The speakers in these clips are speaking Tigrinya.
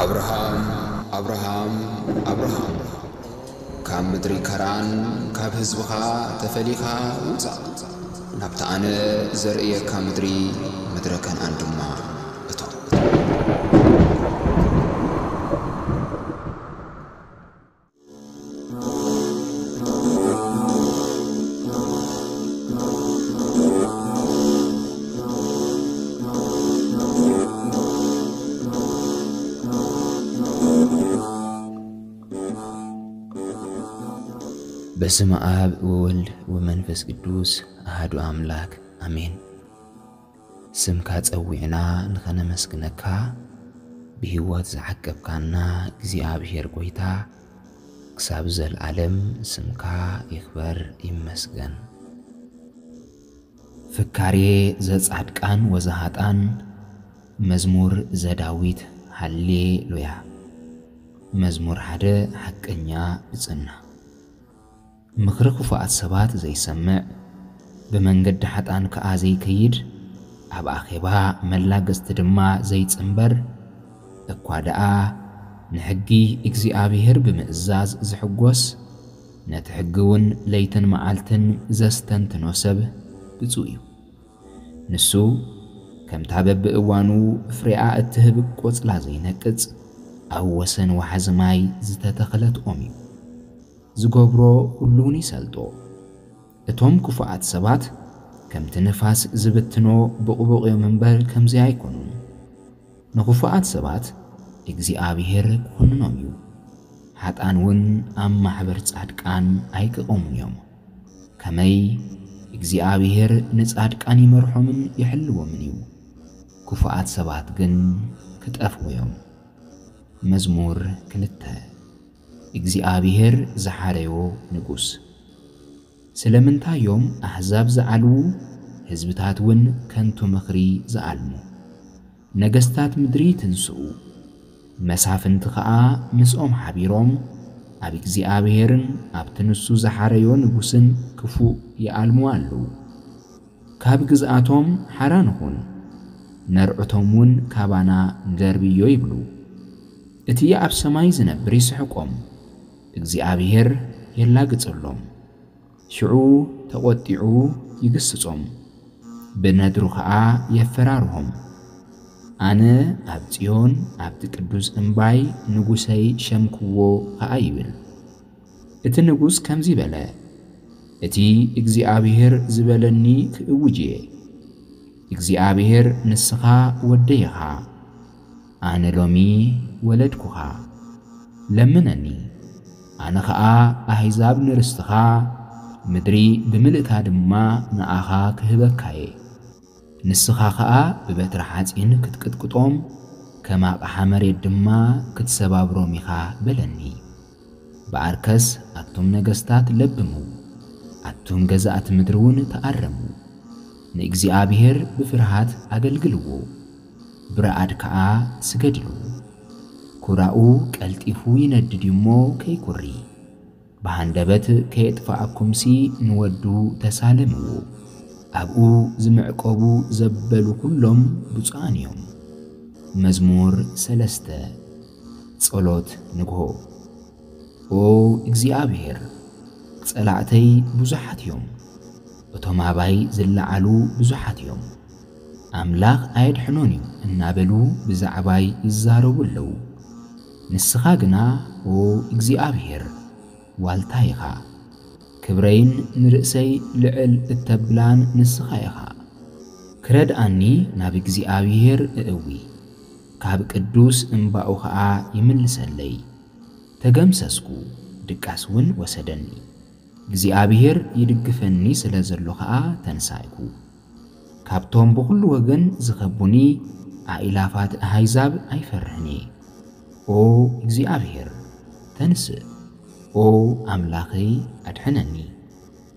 ኣብርሃም፣ ኣብርሃም፣ ኣብርሃም፣ ካብ ምድሪ ከራን፣ ካብ ህዝብኻ ተፈሊኻ ውጻእ፣ ናብታ ኣነ ዘርእየካ ምድሪ፣ ምድረ ከነኣን ድማ እቶ። በስመ ኣብ ወወልድ ወመንፈስ ቅዱስ ኣሃዱ ኣምላክ ኣሜን። ስምካ ጸዊዕና ንኸነመስግነካ፣ ብህይወት ዝዓቀብካና እግዚኣብሔር ጐይታ፣ ክሳብ ዘልዓለም ስምካ ይኽበር ይመስገን። ፍካሬ ዘጻድቃን ወዘሃጣን፣ መዝሙር ዘዳዊት። ሃሌሉያ። መዝሙር ሓደ ሓቀኛ ብጽና። ምኽሪ ክፉኣት ሰባት ዘይሰምዕ፣ ብመንገዲ ሓጣን ከኣ ዘይከይድ፣ ኣብ ኣኼባ መላገጽቲ ድማ ዘይጽንበር፣ እኳ ደኣ ንሕጊ እግዚኣብሔር ብምእዛዝ ዝሕጎስ፣ ነቲ ሕጊ እውን ለይትን መዓልትን ዘስተንትኖ ሰብ ብፁዕ እዩ። ንሱ ከምታ በብእዋኑ ፍሬኣ እትህብ ቆጽላ ዘይነቅጽ፣ ኣብ ወሰን ወሓዚ ማይ ዝተተኽለት ኦም እዩ። ዝገብሮ ኩሉ እውን ይሰልጦ። እቶም ክፉኣት ሰባት ከምቲ ንፋስ ዝብትኖ ብቑቡቕ እዮም እምበር ከምዚ ኣይኮኑን። ንኽፉኣት ሰባት እግዚኣብሔር ክኹንኖም እዩ። ሓጣን እውን ኣብ ማሕበር ጻድቃን ኣይክቐሙን እዮም። ከመይ እግዚኣብሔር ንጻድቃን ይመርሖምን ይሕልዎምን እዩ። ክፉኣት ሰባት ግን ክጠፍኡ እዮም። መዝሙር ክልተ። እግዚኣብሔር ዝሓረዮ ንጉስ። ስለምንታይ እዮም ኣህዛብ ዝዓልዉ፣ ህዝብታት እውን ከንቱ ምኽሪ ዝኣልሙ? ነገስታት ምድሪ ይትንስኡ፣ መሳፍንቲ ኸኣ ምስኦም ሓቢሮም ኣብ እግዚኣብሔርን ኣብቲ ንሱ ዝሓረዮ ንጉስን ክፉእ ይኣልሙ ኣለዉ። ካብ ግዝኣቶም ሓራ ንኹን፣ ነርዕቶም እውን ካባና ንደርብዮ ይብሉ። እቲ ኣብ ሰማይ ዝነብር ይስሕቆም፣ እግዚኣብሔር የላግጸሎም። ሽዑ ተቖጢዑ ይግስጾም፣ ብነድሩ ኸኣ የፈራርሆም። ኣነ ኣብ ጽዮን ኣብቲ ቅዱስ እምባይ ንጉሰይ ሸምክዎ ኸኣ ይብል። እቲ ንጉስ ከምዚ በለ፣ እቲ እግዚኣብሔር ዝበለኒ ክእውጅ እየ። እግዚኣብሔር ንስኻ ወደይ ኢኻ፣ ኣነ ሎሚ ወለድኩኻ። ለምነኒ፣ ኣነ ኸኣ ኣህዛብ ንርስትኻ፣ ምድሪ ብምልእታ ድማ ንኣኻ ክህበካ እየ። ንስኻ ኸኣ ብበትሪ ሓጺን ክትቅጥቅጦም፣ ከም ኣቕሓ መሬት ድማ ክትሰባብሮም ኢኻ በለኒ። ብኣርከስ ኣቱም ነገስታት ለብሙ፣ ኣቱም ገዛእቲ ምድሪ እውን ተኣረሙ። ንእግዚኣብሔር ብፍርሃት ኣገልግልዎ፣ ብረኣድ ከኣ ስገድሉ። ኩራኡ ቀልጢፉ ይነድድ እዩ እሞ ከይኩሪ፣ ብሃንደበት ከየጥፍኣኩምሲ ንወዱ ተሳለምዎ። ኣብኡ ዝምዕቀቡ ዘበሉ ኩሎም ብፁዓን እዮም። መዝሙር ሰለስተ። ጸሎት ንግሆ። ኦ እግዚኣብሔር፣ ጸላእተይ ብዙሓት እዮም፣ እቶም ኣባይ ዝለዓሉ ብዙሓት እዮም። ኣምላኽ ኣየድሕኖን እዩ እናበሉ ብዛዕባይ ይዛረቡ ኣለዉ። ንስኻ ግና ኦ እግዚኣብሔር ዋልታ ኢኻ፣ ክብረይን ንርእሰይ ልዕል እተብላን ንስኻ ኢኻ። ክረድኣኒ ናብ እግዚኣብሔር እእዊ፣ ካብ ቅዱስ እምባኡ ኸኣ ይምልሰለይ። ተገምሰስኩ፣ ድቃስ እውን ወሰደኒ። እግዚኣብሔር ይድግፈኒ ስለ ዘሎ ኸኣ ተንሳእኩ። ካብቶም ብኹሉ ወገን ዝኸቡኒ ኣኢላፋት ኣህዛብ ኣይፈርህን እየ። ኦ እግዚኣብሔር፣ ተንስእ፣ ኦ ኣምላኸይ፣ ኣድሕነኒ።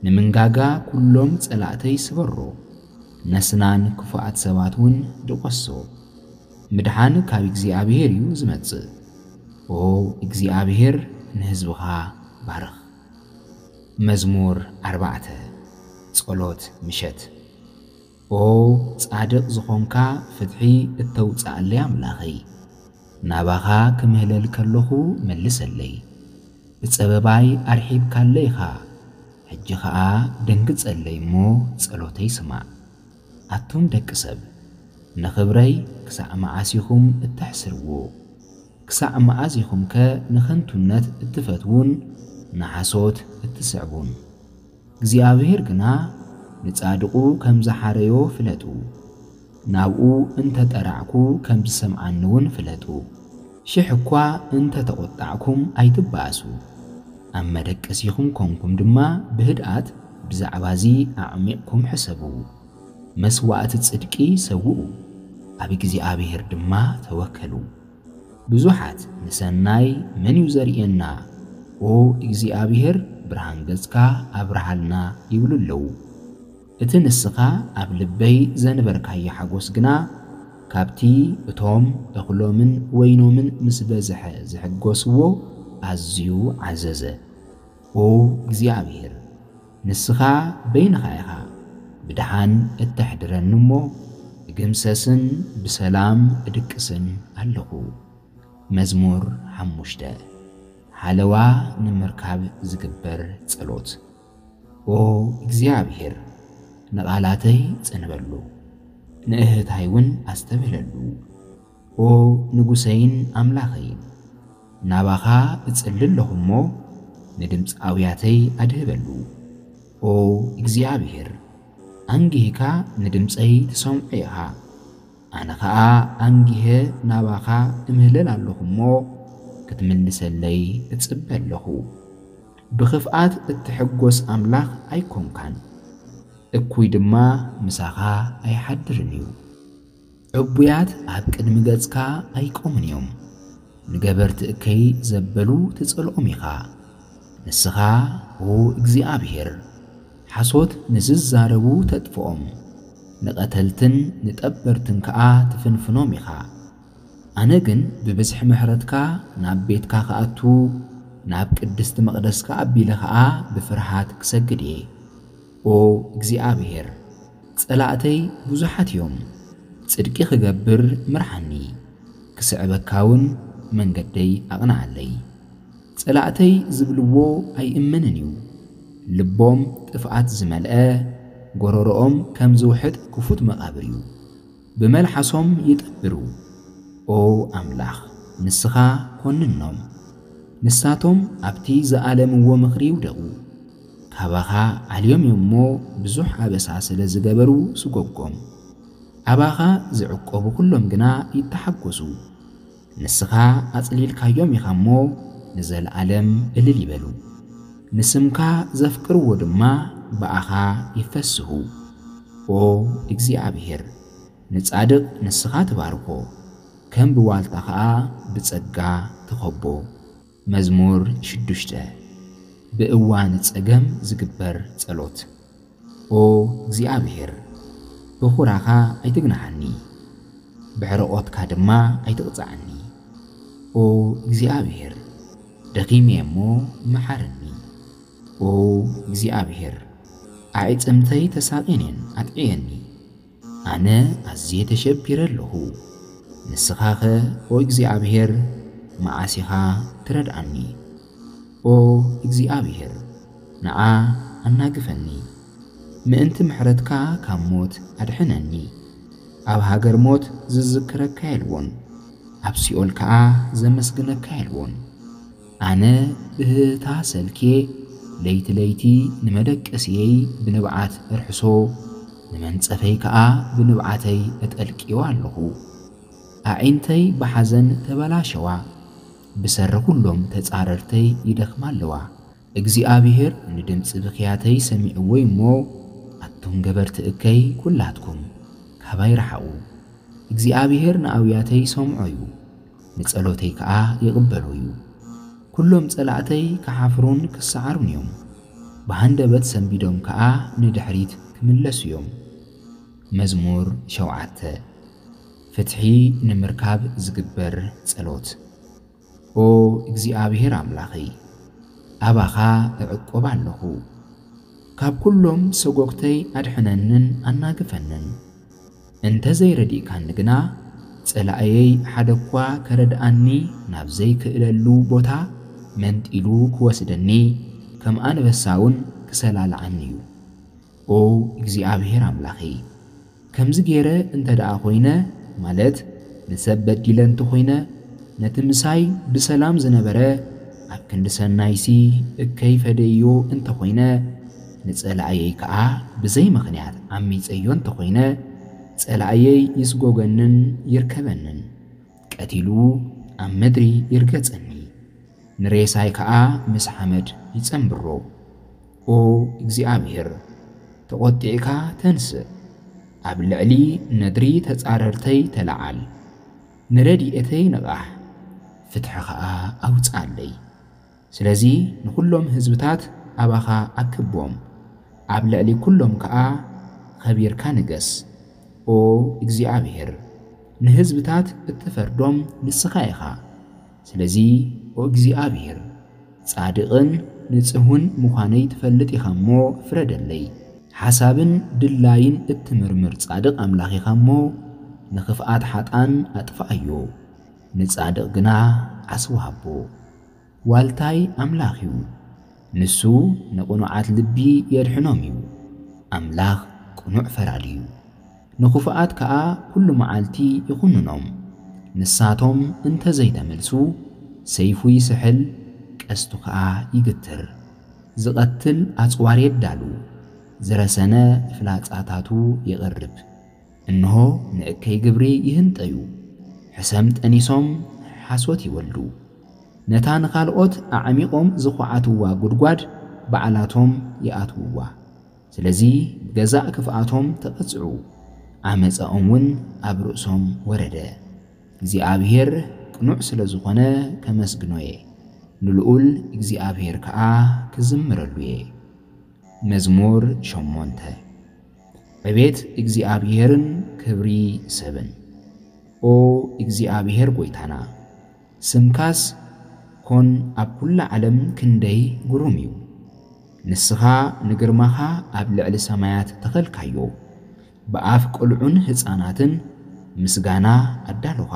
ንምንጋጋ ኩሎም ጸላእተይ ስበሮ፣ ነስናን ክፉኣት ሰባት እውን ድቖሶ። ምድሓን ካብ እግዚኣብሔር እዩ ዝመጽእ። ኦ እግዚኣብሔር፣ ንህዝብኻ ባርኽ። መዝሙር ኣርባዕተ። ጸሎት ምሸት። ኦ ጻድቕ ዝኾንካ፣ ፍትሒ እተውጽኣለይ ኣምላኸይ፣ ናባኻ ክምህለል ከለኹ መልሰለይ። ብጸበባይ ኣርሒብካለይ ኢኻ፣ ሕጂ ኸኣ ደንግጸለይ እሞ ጸሎተይ ስማዕ። ኣቱም ደቂ ሰብ፣ ንኽብረይ ክሳዕ መዓስ ኢኹም እተሕስርዎ? ክሳዕ መኣዝ ኢኹምከ ንኸንቱነት እትፈትዉን ንሓሶት እትስዕቡን? እግዚኣብሔር ግና ንጻድቑ ከም ዝሓረዮ ፍለጡ። ናብኡ እንተ ጠራዕኩ ከም ዝሰምዓኒ እውን ፍለጡ። ሽሕ እኳ እንተ ተቖጣዕኩም ኣይትበኣሱ። ኣብ መደቀሲኹም ኮንኩም ድማ ብህድኣት ብዛዕባዚ ኣዕሚቕኩም ሕሰቡ። መስዋእቲ ጽድቂ ሰውኡ፣ ኣብ እግዚኣብሔር ድማ ተወከሉ። ብዙሓት ንሰናይ መን እዩ ዘርእየና? ኦ እግዚኣብሔር፣ ብርሃን ገጽካ ኣብርሃልና ይብሉ ኣለዉ። እቲ ንስኻ ኣብ ልበይ ዘንበርካዮ ሓጎስ ግና ካብቲ እቶም እኽሎምን ወይኖምን ምስ በዝሐ ዝሕጎስዎ ኣዝዩ ዓዘዘ። ኦ እግዚኣብሔር፣ ንስኻ በይንኻ ኢኻ ብደሓን እተሕድረኒ እሞ፣ እግምሰስን ብሰላም እድቅስን ኣለኹ። መዝሙር ሓሙሽተ። ሓለዋ ንምርካብ ዝግበር ጸሎት። ኦ እግዚኣብሔር፣ ንቓላተይ ጽንበሉ፣ ንእህታይ እውን ኣስተብህለሉ። ኦ ንጉሰይን ኣምላኸይን፣ ናባኻ እጽሊ ኣለኹ እሞ፣ ንድምጺ ኣውያተይ ኣድህበሉ። ኦ እግዚኣብሔር፣ ኣንጊህካ ንድምጸይ ትሰምዖ ኢኻ። ኣነ ኸኣ ኣንጊሀ ናባኻ እምህለል ኣለኹ እሞ፣ ክትምልሰለይ እጽበ ኣለኹ። ብኽፍኣት እትሕጎስ ኣምላኽ ኣይኮንካን፣ እኩይ ድማ ምሳኻ ኣይሓድርን እዩ። ዕቡያት ኣብ ቅድሚ ገጽካ ኣይቆሙን እዮም። ንገበርቲ እከይ ዘበሉ ትጸልኦም ኢኻ። ንስኻ፣ ኦ እግዚኣብሔር፣ ሓሶት ንዝዛረቡ ተጥፍኦም፣ ንቐተልትን ንጠበርትን ከኣ ትፍንፍኖም ኢኻ። ኣነ ግን ብብዝሒ ምሕረትካ ናብ ቤትካ ክኣቱ፣ ናብ ቅድስቲ መቕደስካ ኣቢለ ኸኣ ብፍርሃት ክሰግድ እየ። ኦ እግዚኣብሔር፣ ጸላእተይ ብዙሓት እዮም። ጽድቂ ክገብር ምርሓኒ፣ ክስዕበካ እውን መንገደይ ኣቕንዓለይ። ጸላእተይ ዝብልዎ ኣይእመንን እዩ። ልቦም ጥፍኣት ዝመልአ፣ ጎረሮኦም ከም ዝውሕጥ ክፉት መቓብር እዩ። ብመልሓሶም ይጠብሩ። ኦ ኣምላኽ፣ ንስኻ ኮንኖም። ንሳቶም ኣብቲ ዝኣለምዎ ምኽሪ ይውደቑ። ካባኻ ዓልዮም እዮም እሞ፣ ብዙሕ ኣበሳ ስለ ዝገበሩ ስጎጎም። ኣባኻ ዝዕቆቡ ኩሎም ግና ይተሓጎሱ። ንስኻ ኣጽሊልካዮም ኢኻ እሞ፣ ንዘለኣለም እልል ይበሉ። ንስምካ ዘፍቅርዎ ድማ ብኣኻ ይፈስሁ። ኦ እግዚኣብሔር፣ ንጻድቕ ንስኻ ትባርኮ፣ ከም ብዋልታ ኸኣ ብጸጋ ትኸቦ። መዝሙር ሽዱሽተ። ብእዋን ጸገም ዝግበር ጸሎት። ኦ እግዚኣብሔር፣ ብኹራኻ ኣይትግንሓኒ፣ ብሕርቖትካ ድማ ኣይትቕጽዓኒ። ኦ እግዚኣብሔር፣ ደኺመ እሞ መሓረኒ። ኦ እግዚኣብሔር፣ ኣዕጽምተይ ተሳቕየን እየን፣ ኣጥዕየኒ። ኣነ ኣዝየ ተሸቢረ ኣለኹ። ንስኻኸ ኦ እግዚኣብሔር፣ መዓስ ኢኻ ትረድኣኒ? ኦ እግዚኣብሔር፣ ንዓ ኣናግፈኒ። ምእንቲ ምሕረትካ ካብ ሞት ኣድሕነኒ። ኣብ ሃገር ሞት ዝዝክረካ የልቦን፣ ኣብ ሲኦል ከኣ ዘመስግነካ የልቦን። ኣነ ብህህታ ሰልክየ ለይቲ ለይቲ ንመደቀስየይ ብንብዓት እርሕሶ፣ ንመንጸፈይ ከኣ ብንብዓተይ እጠልቅዮ ኣለኹ። ኣዒንተይ ብሓዘን ተበላሸዋ፣ ብሰሪ ኩሎም ተጻረርተይ ይደኽማ ኣለዋ። እግዚኣብሔር ንድምጺ ብኽያተይ ሰሚዕዎ እሞ፣ ኣቱም ገበርቲ እከይ ኩላትኩም ካባይ ረሓቑ። እግዚኣብሔር ንኣውያተይ ሰምዖ እዩ፣ ንጸሎተይ ከኣ ይቕበሎ እዩ። ኩሎም ጸላእተይ ክሓፍሩን ክሰዓሩን እዮም፣ ብሃንደበት ሰንቢዶም ከኣ ንድሕሪት ክምለሱ እዮም። መዝሙር ሸውዓተ። ፍትሒ ንምርካብ ዝግበር ጸሎት። ኦ እግዚኣብሔር ኣምላኸይ፣ ኣባኻ እዕቆብ ኣለኹ። ካብ ኩሎም ሰጎግተይ ኣድሕነንን ኣናግፈንን። እንተ ዘይረዲእካኒ ግና፣ ጸላእየይ ሓደ እኳ ከረድኣኒ ናብ ዘይክእለሉ ቦታ መንጢሉ ክወስደኒ፣ ከም ኣንበሳ እውን ክሰላልዓኒ እዩ። ኦ እግዚኣብሔር ኣምላኸይ፣ ከምዚ ገይረ እንተ ደኣ ኾይነ፣ ማለት ንሰብ በዲለ እንተ ኾይነ፣ ነቲ ምሳይ ብሰላም ዝነበረ ኣብ ክንዲ ሰናይሲ እከይ ፈደዮ እንተ ኾይነ፣ ንጸላእየይ ከኣ ብዘይ ምኽንያት ዓሚጸዮ እንተ ኾይነ፣ ጸላእየይ ይስጎገንን ይርከበንን፣ ቀቲሉ ኣብ ምድሪ ይርገጸኒ፣ ንሬሳይ ከኣ ምስ ሓመድ ይጸንብሮ። ኦ እግዚኣብሔር፣ ተቖጢዕካ ተንስእ፣ ኣብ ልዕሊ ነድሪ ተጻረርተይ ተለዓል፣ ንረድኤተይ ንቓሕ፣ ፍትሒ ኸኣ ኣውጽኣለይ። ስለዚ ንኹሎም ህዝብታት ኣባኻ ኣክቦም፣ ኣብ ልዕሊ ኩሎም ከኣ ኸቢርካ ንገስ። ኦ እግዚኣብሔር፣ ንህዝብታት እትፈርዶም ንስኻ ኢኻ። ስለዚ ኦ እግዚኣብሔር፣ ጻድቕን ንጽህውን ምዃነይ ትፈልጥ ኢኻ እሞ ፍረደለይ። ሓሳብን ድላይን እትምርምር ጻድቕ ኣምላኽ ኢኻ እሞ፣ ንኽፍኣት ሓጥኣን ኣጥፍኣዮ፣ ንጻድቕ ግና ዓስቢ ሃቦ። ዋልታይ ኣምላኽ እዩ፣ ንሱ ንቕኑዓት ልቢ የድሕኖም እዩ። ኣምላኽ ቅኑዕ ፈራዲ እዩ፣ ንኽፉኣት ከኣ ኩሉ መዓልቲ ይኹንኖም። ንሳቶም እንተ ዘይተመልሱ፣ ሰይፉ ይስሕል፣ ቀስቱ ከኣ ይግትር። ዝቐትል ኣጽዋር የዳሉ፣ ዝረሰነ ፍላጻታቱ የቕርብ። እንሆ ንእከይ ግብሪ ይህንጠዩ፣ ሕሰም ጠኒሶም ሓሶት ይወልዱ። ነታ ንኻልኦት ኣዕሚቖም ዝኹዓትዋ ጉድጓድ ባዕላቶም ይኣትውዋ። ስለዚ ብገዛእ ክፍኣቶም ተቐጽዑ፣ ዓመጻኦም እውን ኣብ ርእሶም ወረደ። እግዚኣብሔር ቅኑዕ ስለ ዝኾነ ከመስግኖ እየ፣ ንልኡል እግዚኣብሔር ከኣ ክዝምረሉ እየ። መዝሙር ሸሞንተ። ዕቤት እግዚኣብሔርን ክብሪ ሰብን። ኦ እግዚኣብሔር ጐይታና፣ ስምካስ ኮን ኣብ ኩላ ዓለም ክንደይ ግሩም እዩ። ንስኻ ንግርማኻ ኣብ ልዕሊ ሰማያት ተኸልካዮ፣ ብኣፍ ቁልዑን ህፃናትን ምስጋና ኣዳሉኻ።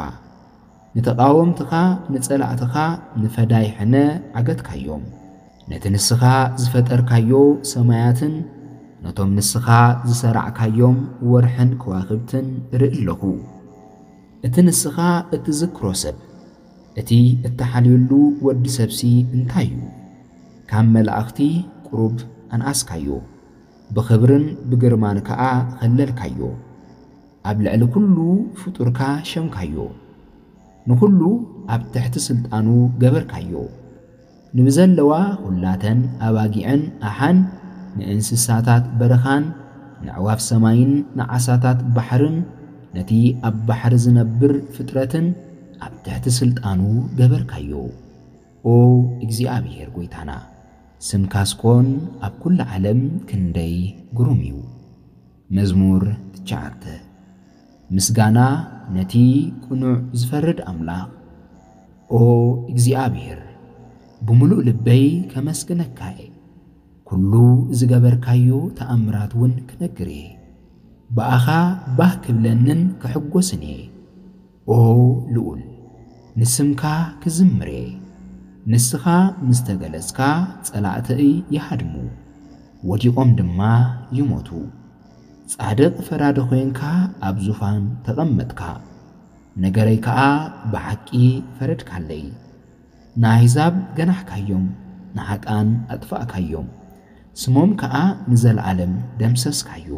ንተቓወምትኻ ንጸላእትኻ ንፈዳይ ሕነ ዓገትካዮም። ነቲ ንስኻ ዝፈጠርካዮ ሰማያትን ነቶም ንስኻ ዝሰራዕካዮም ወርሕን ከዋኽብትን እርኢ ኣለኹ። እቲ ንስኻ እትዝክሮ ሰብ፣ እቲ እተሓልየሉ ወዲ ሰብሲ እንታይ እዩ? ካብ መላእኽቲ ቁሩብ ኣንኣስካዮ፣ ብኽብርን ብግርማን ከኣ ኸለልካዮ። ኣብ ልዕሊ ኩሉ ፍጡርካ ሸምካዮ፣ ንኹሉ ኣብ ትሕቲ ስልጣኑ ገበርካዮ። ንብዘለዋ ኹላተን ኣባጊዕን ኣሓን፣ ንእንስሳታት በረኻን፣ ንዕዋፍ ሰማይን ንዓሳታት ባሕርን፣ ነቲ ኣብ ባሕሪ ዝነብር ፍጥረትን ኣብ ትሕቲ ስልጣኑ ገበርካዮ። ኦ እግዚኣብሔር ጐይታና፣ ስምካስ ኮን ኣብ ኩሉ ዓለም ክንደይ ግሩም እዩ። መዝሙር ትሽዓተ። ምስጋና ነቲ ቅኑዕ ዝፈርድ ኣምላኽ። ኦ እግዚኣብሔር፣ ብምሉእ ልበይ ከመስግነካ እየ። ኩሉ ዝገበርካዮ ተኣምራት እውን ክነግር እየ። ብኣኻ ባህ ክብለንን ክሕጎስን እየ። ኦ ልኡል፣ ንስምካ ክዝምር እየ። ንስኻ ምስ ተገለጽካ ጸላእተይ ይሃድሙ፣ ወዲቖም ድማ ይሞቱ። ጻድቕ ፈራዲ ኾይንካ ኣብ ዙፋን ተቐመጥካ፣ ነገረይ ከኣ ብሓቂ ፈረድካለይ። ንኣህዛብ ገናሕካዮም፣ ንሓጥኣን ኣጥፋእካዮም፣ ስሞም ከኣ ንዘለኣለም ደምሰስካዮ።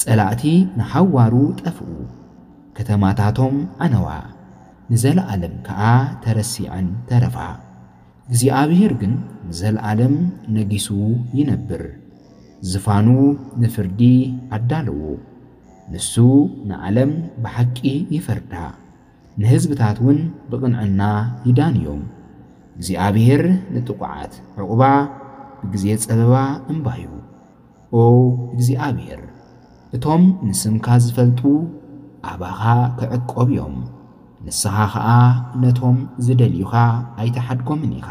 ጸላእቲ ንሓዋሩ ጠፍኡ፣ ከተማታቶም ዓነዋ፣ ንዘለኣለም ከኣ ተረሲዐን ተረፋ። እግዚኣብሔር ግን ንዘለኣለም ነጊሱ ይነብር፣ ዝፋኑ ንፍርዲ ኣዳለዎ። ንሱ ንዓለም ብሓቂ ይፈርዳ፣ ንህዝብታት እውን ብቕንዕና ይዳንዮም። እግዚኣብሔር ንጥቑዓት ዕቑባ፣ ብግዜ ጸበባ እምባዩ። ኦ እግዚኣብሔር፣ እቶም ንስምካ ዝፈልጡ ኣባኻ ክዕቆብ እዮም፣ ንስኻ ኸኣ ነቶም ዝደልዩኻ ኣይትሓድጎምን ኢኻ።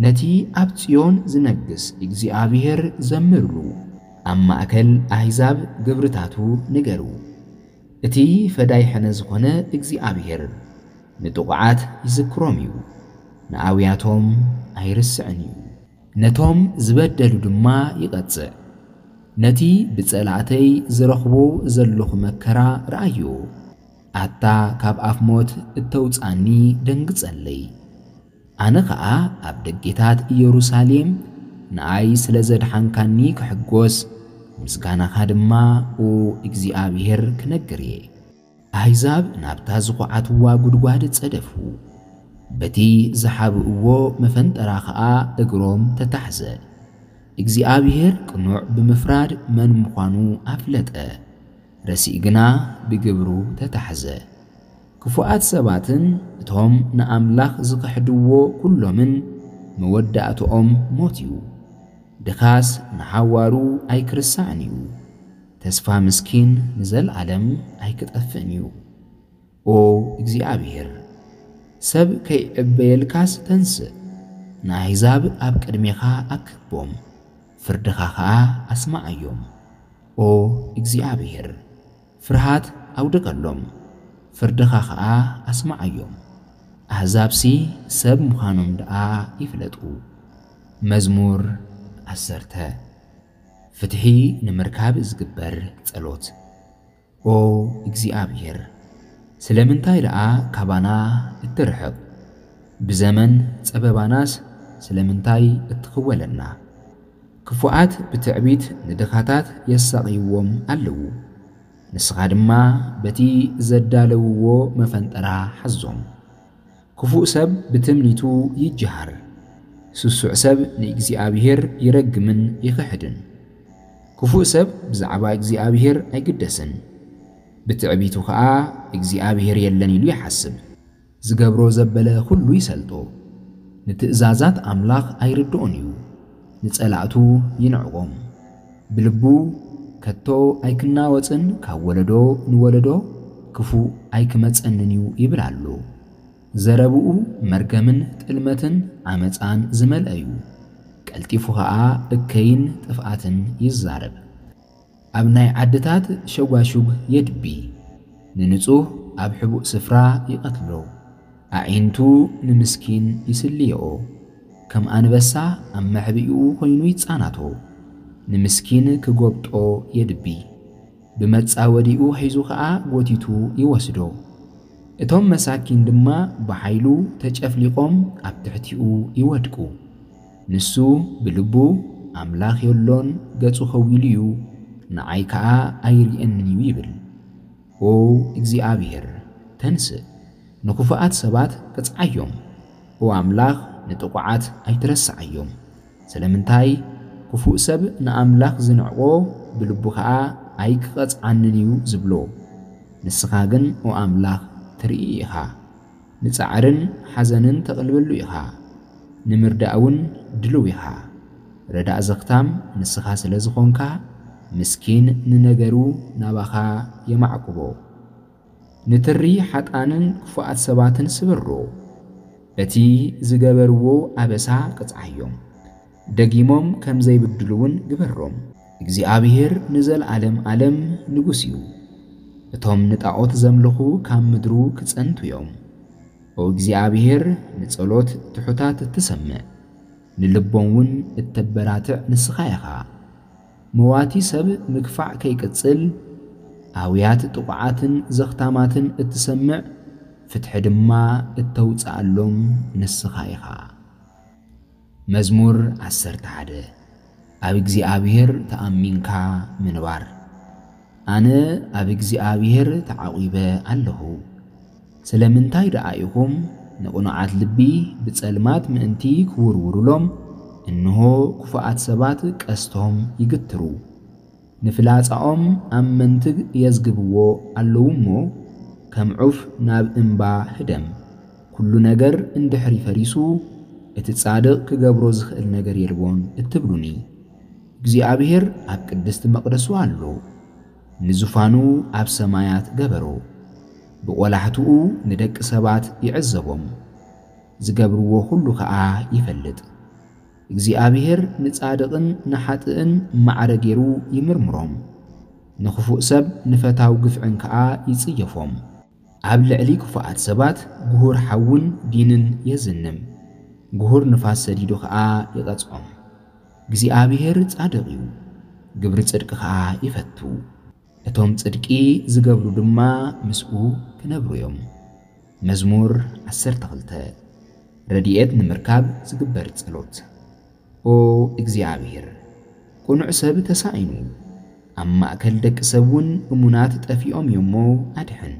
ነቲ ኣብ ጽዮን ዝነግስ እግዚኣብሔር ዘምርሉ፣ ኣብ ማእከል ኣህዛብ ግብርታቱ ንገሩ። እቲ ፈዳይ ሕነ ዝኾነ እግዚኣብሔር ንጥቑዓት ይዝክሮም እዩ፣ ንኣውያቶም ኣይርስዕን እዩ። ነቶም ዝበደሉ ድማ ይቐጽዕ። ነቲ ብጸላእተይ ዝረኽቦ ዘለኹ መከራ ረኣዮ። ኣታ ካብ ኣፍ ሞት እተውጻኒ ደንግጸለይ። ኣነ ኸኣ ኣብ ደጌታት ኢየሩሳሌም ንኣይ ስለ ዘድሓንካኒ ክሕጎስ፣ ምስጋናኻ ድማ ኦ እግዚኣብሔር ክነግር እየ። ኣህዛብ ናብታ ዝኹዓትዋ ጉድጓድ ጸደፉ። በቲ ዝሓብእዎ መፈንጠራ ኸኣ እግሮም ተታሕዘ። እግዚኣብሔር ቅኑዕ ብምፍራድ መን ምዃኑ ኣፍለጠ። ረሲእ ግና ብግብሩ ተታሕዘ። ክፉኣት ሰባትን እቶም ንኣምላኽ ዝኽሕድዎ ኩሎምን መወዳእትኦም ሞት እዩ። ድኻስ ንሓዋሩ ኣይክርሳዕን እዩ። ተስፋ ምስኪን ንዘለኣለም ኣይክጠፍእን እዩ። ኦ እግዚኣብሔር፣ ሰብ ከይዕበየልካስ ተንስእ፣ ንኣህዛብ ኣብ ቅድሜኻ ኣክቦም፣ ፍርድኻ ኸኣ ኣስምዓዮም። ኦ እግዚኣብሔር፣ ፍርሃት ኣውድቀሎም፣ ፍርድኻ ኸኣ ኣስምዓዮም። ኣህዛብሲ ሰብ ምዃኖም ደኣ ይፍለጡ። መዝሙር ዓሰርተ። ፍትሒ ንምርካብ ዝግበር ጸሎት። ኦ እግዚኣብሔር፣ ስለምንታይ ደኣ ካባና እትርሕቕ? ብዘመን ጸበባናስ ስለምንታይ እትኽወለና? ክፉኣት ብትዕቢት ንድኻታት የሳቕይዎም ኣለዉ። ንስኻ ድማ በቲ ዘዳለውዎ መፈንጠራ ሓዞም። ክፉእ ሰብ ብትምኒቱ ይጀሃር። ስሱዕ ሰብ ንእግዚኣብሔር ይረግምን ይኽሕድን። ክፉእ ሰብ ብዛዕባ እግዚኣብሔር ኣይግደስን። ብትዕቢቱ ኸኣ እግዚኣብሔር የለን ኢሉ ይሓስብ። ዝገብሮ ዘበለ ኹሉ ይሰልጦ። ንትእዛዛት ኣምላኽ ኣይርድኦን እዩ። ንጸላእቱ ይንዕቖም። ብልቡ ከቶ ኣይክናወጽን ካብ ወለዶ ንወለዶ ክፉእ ኣይክመጸንን እዩ ይብል ኣሎ። ዘረብኡ መርገምን ጥልመትን ዓመጻን ዝመልአ እዩ። ቀልጢፉ ኸኣ እከይን ጥፍኣትን ይዛረብ። ኣብ ናይ ዓድታት ሸጓሹግ የድቢ። ንንጹህ ኣብ ሕቡእ ስፍራ ይቐትሎ። ኣዒንቱ ንምስኪን ይስልየኦ። ከም ኣንበሳ ኣብ መሕብኢኡ ኮይኑ ይጻናቶ። ንምስኪን ክጎብጦ የድቢ። ብመጻወዲኡ ሒዙ ኸኣ ጎቲቱ ይወስዶ። እቶም መሳኪን ድማ ብሓይሉ ተጨፍሊቖም ኣብ ትሕቲኡ ይወድቁ። ንሱ ብልቡ፣ ኣምላኽ የሎን፣ ገጹ ከዊሉ እዩ፣ ንዓይ ከኣ ኣይርእየንን እዩ ይብል። ኦ እግዚኣብሔር፣ ተንስእ፣ ንኽፉኣት ሰባት ቅጽዓዮም። ኦ ኣምላኽ፣ ንጥቑዓት ኣይትረስዓዮም። ስለምንታይ ክፉእ ሰብ ንኣምላኽ ዝንዕቆ፣ ብልቡ ኸኣ ኣይክቐጽዓንን እዩ ዝብሎ። ንስኻ ግን ኦ ኣምላኽ ትርኢ ኢኻ። ንጻዕርን ሓዘንን ተቕልበሉ ኢኻ። ንምርዳእ እውን ድሉው ኢኻ። ረዳእ ዘኽታም ንስኻ ስለ ዝኾንካ፣ ምስኪን ንነገሩ ናባኻ የማዕቁቦ። ንትሪ ሓጣንን ክፉኣት ሰባትን ስበሮ። በቲ ዝገበርዎ ኣበሳ ቅጽዓዮም። ደጊሞም ከም ዘይብድሉ እውን ግበሮም። እግዚኣብሔር ንዘለኣለም ኣለም ንጉስ እዩ። እቶም ንጣዖት ዘምልኹ ካብ ምድሩ ክጸንቱ እዮም። ኦ እግዚኣብሔር፣ ንጸሎት ትሑታት እትሰምዕ፣ ንልቦም እውን እተበራትዕ ንስኻ ኢኻ። መዋቲ ሰብ ምግፋዕ ከይቅጽል፣ ኣውያት ጥቑዓትን ዘኽታማትን እትሰምዕ፣ ፍትሒ ድማ እተውጽኣሎም ንስኻ ኢኻ። መዝሙር ዓሰርተ ሓደ። ኣብ እግዚኣብሔር ተኣሚንካ ምንባር። ኣነ ኣብ እግዚኣብሔር ተዓቒበ ኣለኹ። ስለምንታይ ደኣ ኢኹም ንቕኑዓት ልቢ ብጸልማት ምእንቲ ክውርውሩሎም፣ እንሆ ክፉኣት ሰባት ቀስቶም ይግትሩ። ንፍላጻኦም ኣብ መንትግ የዝግብዎ ኣለዉ እሞ፣ ከም ዑፍ ናብ እምባ ህደም። ኩሉ ነገር እንድሕሪ ፈሪሱ፣ እቲ ጻድቕ ክገብሮ ዝኽእል ነገር የልቦን እትብሉኒ። እግዚኣብሔር ኣብ ቅድስቲ መቕደሱ ኣሎ። ንዙፋኑ ኣብ ሰማያት ገበሮ። ብቖላሕትኡ ንደቂ ሰባት ይዕዘቦም። ዝገብርዎ ኩሉ ኸኣ ይፈልጥ። እግዚኣብሔር ንጻድቕን ንሓጥእን ማዕረ ገይሩ ይምርምሮም፣ ንኽፉእ ሰብ ንፈታው ግፍዕን ከኣ ይጽየፎም። ኣብ ልዕሊ ክፉኣት ሰባት ግሁር ሓውን ዲንን የዝንም፣ ግሁር ንፋስ ሰዲዱ ኸኣ ይቐጽዖም። እግዚኣብሔር ጻድቕ እዩ፣ ግብሪ ጽድቂ ኸኣ ይፈቱ። እቶም ጽድቂ ዝገብሩ ድማ ምስኡ ክነብሩ እዮም። መዝሙር ዓሰርተ ክልተ። ረድኤት ንምርካብ ዝግበር ጸሎት። ኦ እግዚኣብሔር፣ ቅኑዕ ሰብ ተሳኢኑ፣ ኣብ ማእከል ደቂ ሰብ እውን እሙናት ጠፊኦም እዮሞ ኣድሕን።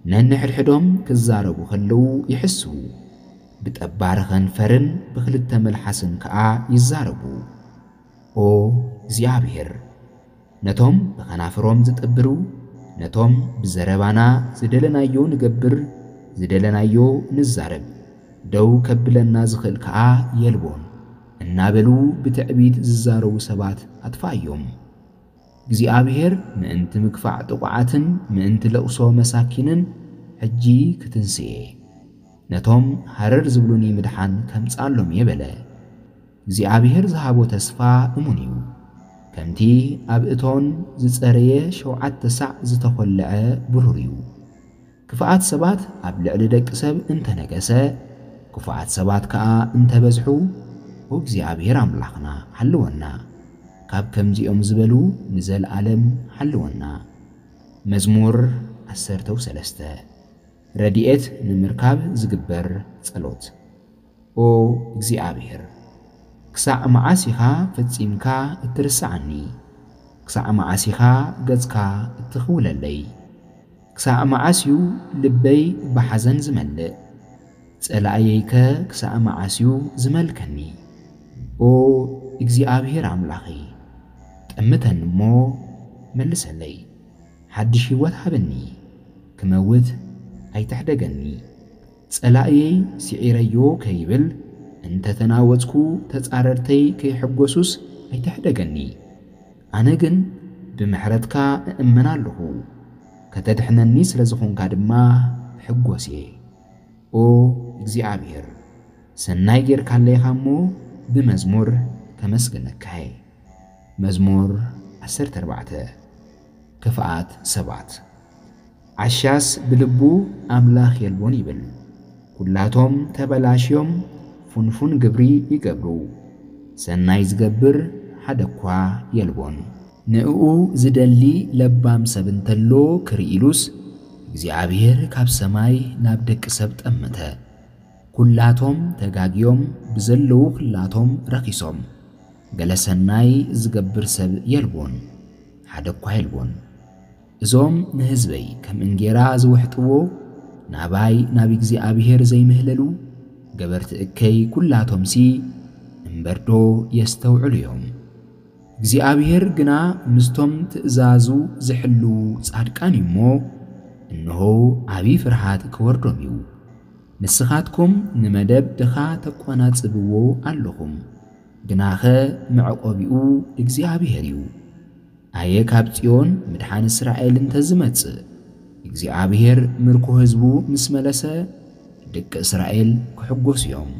ነንሕድሕዶም ክዛረቡ ከለዉ ይሕስዉ፣ ብጠባሪ ከንፈርን ብኽልተ መልሓስን ከኣ ይዛረቡ። ኦ እግዚኣብሔር፣ ነቶም ብኸናፍሮም ዝጥብሩ፣ ነቶም ብዘረባና ዝደለናዮ ንገብር፣ ዝደለናዮ ንዛረብ፣ ደው ከብለና ዝኽእል ከኣ የልቦን እናበሉ ብትዕቢት ዝዛረቡ ሰባት ኣጥፋእዮም። እግዚኣብሔር ምእንቲ ምግፋዕ ጥቑዓትን ምእንቲ ለቕሶ መሳኪንን ሕጂ ክትንስኤ፣ ነቶም ሃረር ዝብሉኒ ምድሓን ከምጽኣሎም እየ በለ። እግዚኣብሔር ዝሃቦ ተስፋ እሙን እዩ። ከምቲ ኣብ እቶን ዝጸረየ ሸውዓተ ሳዕ ዝተኾልዐ ብሩር እዩ። ክፉኣት ሰባት ኣብ ልዕሊ ደቂ ሰብ እንተነገሰ፣ ክፉኣት ሰባት ከኣ እንተበዝሑ፣ ኦ እግዚኣብሔር ኣምላኽና፣ ሓልወና። ካብ ከምዚኦም ዝበሉ ንዘለኣለም ሓልወና። መዝሙር ዓሰርተ ሰለስተ። ረድኤት ንምርካብ ዝግበር ጸሎት። ኦ እግዚኣብሔር፣ ክሳዕ መዓስ ኢኻ ፈጺምካ እትርስዓኒ? ክሳዕ መዓስ ኢኻ ገጽካ እትኽውለለይ? ክሳዕ መዓስ እዩ ልበይ ብሓዘን ዝመልእ? ጸላእየይከ ክሳዕ መዓስ እዩ ዝመልከኒ? ኦ እግዚኣብሔር ኣምላኸይ፣ ጠምተኒ እሞ መልሰለይ፣ ሓድሽ ህይወት ሃበኒ፣ ክመውት ኣይትሕደገኒ። ጸላእየይ ስዒረዮ ከይብል፣ እንተ ተናወጽኩ ተጻረርተይ ከይሕጎሱስ ኣይትሕደገኒ። ኣነ ግን ብምሕረትካ እእመን ኣለኹ፣ ከተድሕነኒ ስለ ዝኾንካ ድማ እሕጎስ እየ። ኦ እግዚኣብሔር፣ ሰናይ ጌርካለይኻ እሞ ብመዝሙር ከመስግነካ እየ። መዝሙር ዓሰርተ ኣርባዕተ። ክፍኣት ሰባት። ዓሻስ ብልቡ ኣምላኽ የልቦን ይብል። ኩላቶም ተበላሽዮም ፍንፉን ግብሪ ይገብሩ። ሰናይ ዝገብር ሓደ እኳ የልቦን። ንእኡ ዝደሊ ለባም ሰብ እንተሎ ክርኢ ኢሉስ፣ እግዚኣብሔር ካብ ሰማይ ናብ ደቂ ሰብ ጠመተ። ኩላቶም ተጋግዮም ብዘለዉ ኩላቶም ረኺሶም። ገለ ሰናይ ዝገብር ሰብ የልቦን፣ ሓደ እኳ የልቦን። እዞም ንህዝበይ ከም እንጌራ ዝውሕጥዎ፣ ናባይ ናብ እግዚኣብሔር ዘይምህለሉ፣ ገበርቲ እከይ ኩላቶምሲ እምበርዶ የስተውዕሉ እዮም። እግዚኣብሔር ግና ምስቶም ትእዛዙ ዝሕልዉ ጻድቃን እዩ እሞ፣ እንሆ ዓቢ ፍርሃት ክወርዶም እዩ። ንስኻትኩም ንመደብ ድኻ ተቋናጽብዎ ኣለኹም፣ ግናኸ መዕቆቢኡ እግዚኣብሔር እዩ። ኣየ ካብ ጽዮን ምድሓን እስራኤል እንተ ዝመጽእ፣ እግዚኣብሔር ምርኮ ህዝቡ ምስ መለሰ፣ ደቂ እስራኤል ክሕጎሱ እዮም፣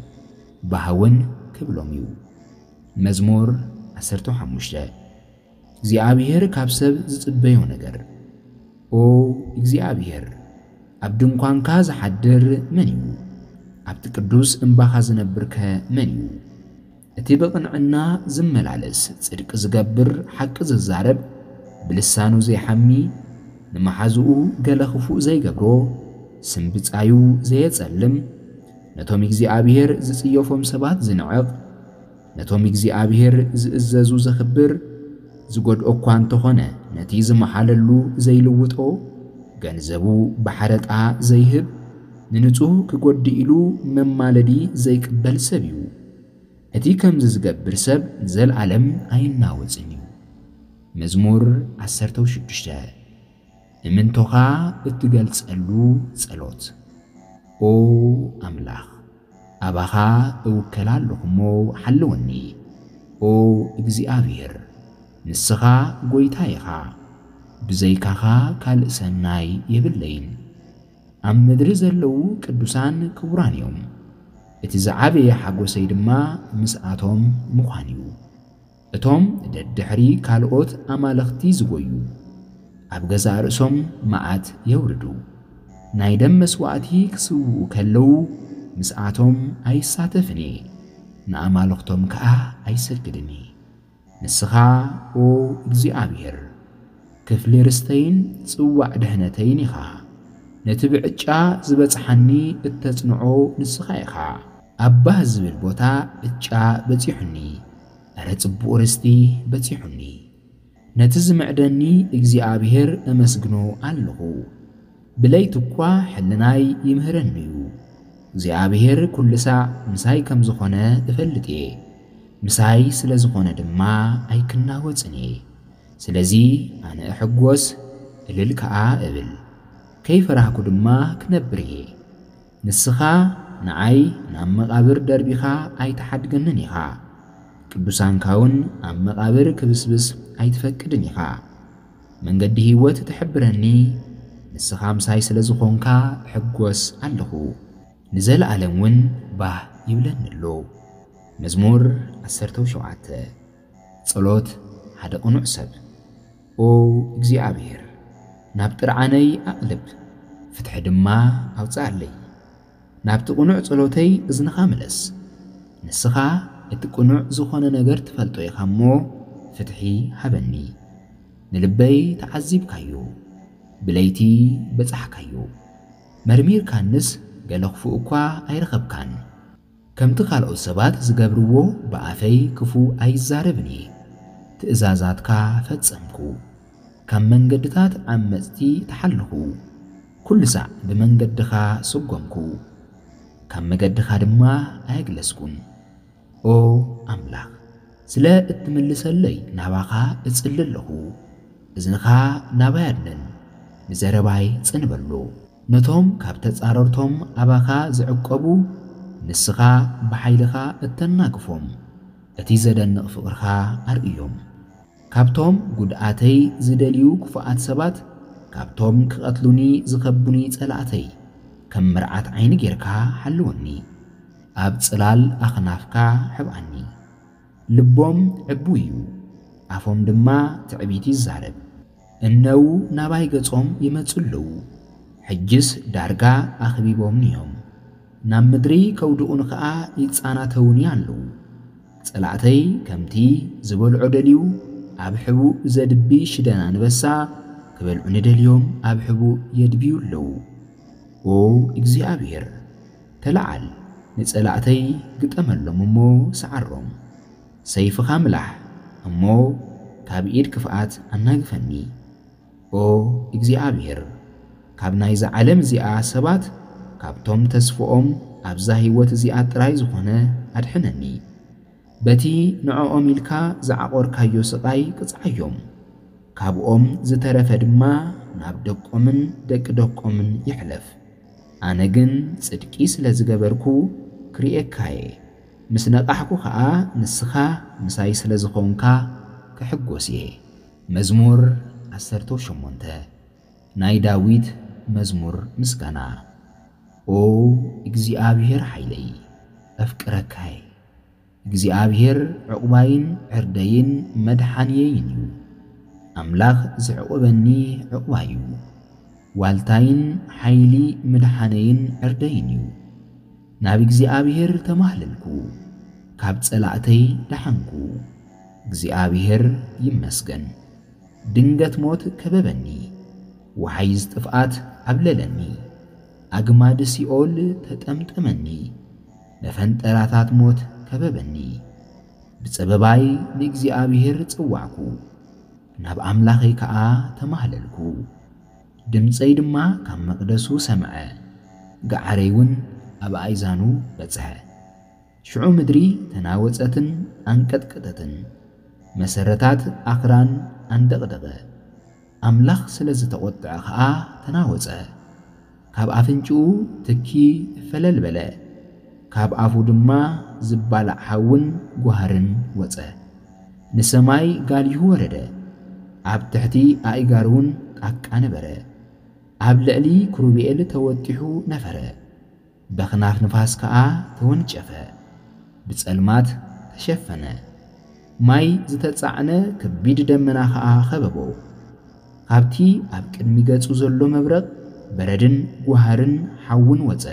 ባህውን ክብሎም እዩ። መዝሙር ዓሰርተ ሓሙሽተ። እግዚኣብሔር ካብ ሰብ ዝጽበዮ ነገር። ኦ እግዚኣብሔር፣ ኣብ ድንኳንካ ዝሓድር መን እዩ? ኣብቲ ቅዱስ እምባኻ ዝነብርከ መን እዩ? እቲ ብቕንዕና ዝመላለስ፣ ጽድቂ ዝገብር፣ ሓቂ ዝዛረብ፣ ብልሳኑ ዘይሓሚ፣ ንመሓዝኡ ገለ ክፉእ ዘይገብሮ፣ ስም ብጻዩ ዘየጸልም፣ ነቶም እግዚኣብሔር ዝጽየፎም ሰባት ዝንዕቕ፣ ነቶም እግዚኣብሔር ዝእዘዙ ዘኽብር፣ ዝጎድኦ እኳ እንተኾነ ነቲ ዝመሓለሉ ዘይልውጦ፣ ገንዘቡ ብሓረጣ ዘይህብ፣ ንንጹህ ክጎድእ ኢሉ መማለዲ ዘይቅበል ሰብ እዩ። እቲ ከምዚ ዝገብር ሰብ ንዘለኣለም ኣይናወጽን እዩ። መዝሙር ዓሰርተ ሽዱሽተ። እምንቶኻ እትገልጸሉ ጸሎት። ኦ ኣምላኽ፣ ኣባኻ እውከል ኣለኹ እሞ ሓልወኒ። ኦ እግዚኣብሔር፣ ንስኻ ጐይታ ኢኻ፣ ብዘይካኻ ካልእ ሰናይ የብለይን። ኣብ ምድሪ ዘለዉ ቅዱሳን ክቡራን እዮም። እቲ ዝዓበየ ሓጎሰይ ድማ ምስኣቶም ምዃን እዩ። እቶም ደድሕሪ ካልኦት ኣማልኽቲ ዝጎዩ፣ ኣብ ገዛእ ርእሶም መዓት የውርዱ። ናይ ደም መስዋእቲ ክስውኡ ከለዉ ምስኣቶም ኣይሳተፍን እየ፣ ንኣማልኽቶም ከኣ ኣይሰግድን እየ። ንስኻ ኦ እግዚኣብሔር ክፍሊ ርስተይን ጽዋዕ ድሕነተይን ኢኻ። ነቲ ብዕጫ ዝበጽሓኒ እተጽንዖ ንስኻ ኢኻ። ኣብ ባህ ዝብል ቦታ ዕጫ በጺሑኒ፣ እረ ጽቡቕ ርስቲ በጺሑኒ። ነቲ ዝምዕደኒ እግዚኣብሔር እመስግኖ ኣለኹ። ብለይቲ እኳ ሕልናይ ይምህረኒ እዩ። እግዚኣብሔር ኩሉ ሳዕ ምሳይ ከም ዝኾነ እፈልጥ እየ። ምሳይ ስለ ዝኾነ ድማ ኣይክናወጽን እየ። ስለዚ ኣነ እሕጎስ፣ እልል ከኣ እብል። ከይፈራህኩ ድማ ክነብር እየ። ንስኻ ንዓይ ናብ መቓብር ደርቢኻ ኣይትሓድገንን ኢኻ። ቅዱሳንካ እውን ኣብ መቓብር ክብስብስ ኣይትፈቅድን ኢኻ። መንገዲ ህይወት ትሕብረኒ፣ ንስኻ ምሳይ ስለ ዝኾንካ እሕጎስ ኣለኹ። ንዘለኣለም እውን ባህ ይብለኒ ኣሎ። መዝሙር ዓሰርተ ሸውዓተ። ጸሎት ሓደ ቅኑዕ ሰብ። ኦ እግዚኣብሔር፣ ናብ ጥርዓነይ ኣቕልብ፣ ፍትሒ ድማ ኣውጽኣለይ። ናብቲ ቅኑዕ ጸሎተይ እዝንኻ ምለስ። ንስኻ እቲ ቅኑዕ ዝኾነ ነገር ትፈልጦ ኢኻ እሞ፣ ፍትሒ ሃበኒ። ንልበይ ተዓዚብካዮ፣ ብለይቲ በጻሕካዮ። መርሚርካንስ ገለ ክፉእ እኳ ኣይረኸብካን። ከምቲ ካልኦት ሰባት ዝገብርዎ ብኣፈይ ክፉእ ኣይዛረብን እየ። ትእዛዛትካ ፈጸምኩ። ካብ መንገድታት ዓመጽቲ ተሓልኹ። ኩሉ ሳዕ ብመንገድኻ ሰጎምኩ። ካብ መገድኻ ድማ ኣየግለስኩን። ኦ ኣምላኽ፣ ስለ እትምልሰለይ ናባኻ እጽሊ ኣለኹ። እዝንኻ ናባይ ኣድንን፣ ንዘረባይ ጽን በሎ። ነቶም ካብ ተጻረርቶም ኣባኻ ዝዕቀቡ፣ ንስኻ ብሓይልኻ እተናግፎም፣ እቲ ዘደንቕ ፍቕርኻ ኣርእዮም። ካብቶም ጉድኣተይ ዝደልዩ ክፉኣት ሰባት፣ ካብቶም ክቐትሉኒ ዝኸቡኒ ጸላእተይ፣ ከም መርዓት ዓይኒ ጌርካ ሓልወኒ። ኣብ ጽላል ኣኽናፍካ ሕብኣኒ። ልቦም ዕቡይ እዩ፣ ኣፎም ድማ ትዕቢት ይዛረብ። እነዉ ናባይ ገጾም ይመጹ ኣለዉ፣ ሕጅስ ዳርጋ ኣኽቢቦምኒ እዮም። ናብ ምድሪ ከውድቑኒ ኸኣ ይጻናተዉኒ ኣለዉ። ጸላእተይ ከምቲ ዝበልዖ ደልዩ፣ ኣብ ሕቡእ ዘድቢ ሽደን ኣንበሳ ክበልዑኒ ደልዮም ኣብ ሕቡእ የድብዩ ኣለዉ። ኦ እግዚኣብሔር፣ ተለዓል፣ ንጸላእተይ ግጠመሎም እሞ ሰዓሮም። ሰይፍኻ ምላሕ እሞ ካብ ኢድ ክፍኣት ኣናግፈኒ። ኦ እግዚኣብሔር፣ ካብ ናይዛ ዓለም እዚኣ ሰባት፣ ካብቶም ተስፍኦም ኣብዛ ህይወት እዚኣ ጥራይ ዝኾነ ኣድሕነኒ። በቲ ንዕኦም ኢልካ ዝዓቖርካዮ ስቓይ ቅጽዓዮም። ካብኦም ዝተረፈ ድማ ናብ ደቆምን ደቂ ደቆምን ይሕለፍ። ኣነ ግን ጽድቂ ስለ ዝገበርኩ ክርእየካ እየ። ምስ ነቓሕኩ ኸኣ ንስኻ ምሳይ ስለ ዝኾንካ ክሕጎስ እየ። መዝሙር ዓሰርተ ሸሞንተ። ናይ ዳዊት መዝሙር ምስጋና። ኦ እግዚኣብሔር ሓይለይ፣ ኣፍቅረካ እየ። እግዚኣብሔር ዕቑባይን ዕርደይን መድሓንየይን እዩ። ኣምላኽ ዘዕቑበኒ ዕቑባይ እዩ። ዋልታይን ሓይሊ ምድሓነይን ዕርደይን እዩ። ናብ እግዚኣብሔር ተማህለልኩ፣ ካብ ጸላእተይ ደሓንኩ። እግዚኣብሔር ይመስገን። ድንገት ሞት ከበበኒ፣ ወሓይዝ ጥፍኣት ዓብለለኒ። ኣግማድ ሲኦል ተጠምጠመኒ፣ መፈንጠራታት ሞት ከበበኒ። ብጸበባይ ንእግዚኣብሔር ጸዋዕኩ፣ ናብ ኣምላኸይ ከኣ ተማህለልኩ። ድምጸይ ድማ ካብ መቕደሱ ሰምዐ፣ ገዓረይ እውን ኣብ ኣእዛኑ በጽሐ። ሽዑ ምድሪ ተናወጸትን ኣንቀጥቀጠትን፣ መሰረታት ኣኽራን ኣንደቕደቐ። ኣምላኽ ስለ ዝተቖጥዐ ኸኣ ተናወጸ። ካብ ኣፍንጭኡ ትኪ ፈለል በለ፣ ካብ ኣፉ ድማ ዝባላዕ ሓውን ጓህርን ወጸ። ንሰማይ ጋሊሁ ወረደ፣ ኣብ ትሕቲ ኣእጋሩ እውን ጣቃ ነበረ። ኣብ ልዕሊ ክሩቤል ተወጢሑ ነፈረ። በኽናፍ ንፋስ ከኣ ተወንጨፈ፣ ብጸልማት ተሸፈነ። ማይ ዝተጻዕነ ከቢድ ደመና ኸኣ ኸበቦ። ካብቲ ኣብ ቅድሚ ገጹ ዘሎ መብረቕ በረድን ጓህርን ሓውን ወጸ።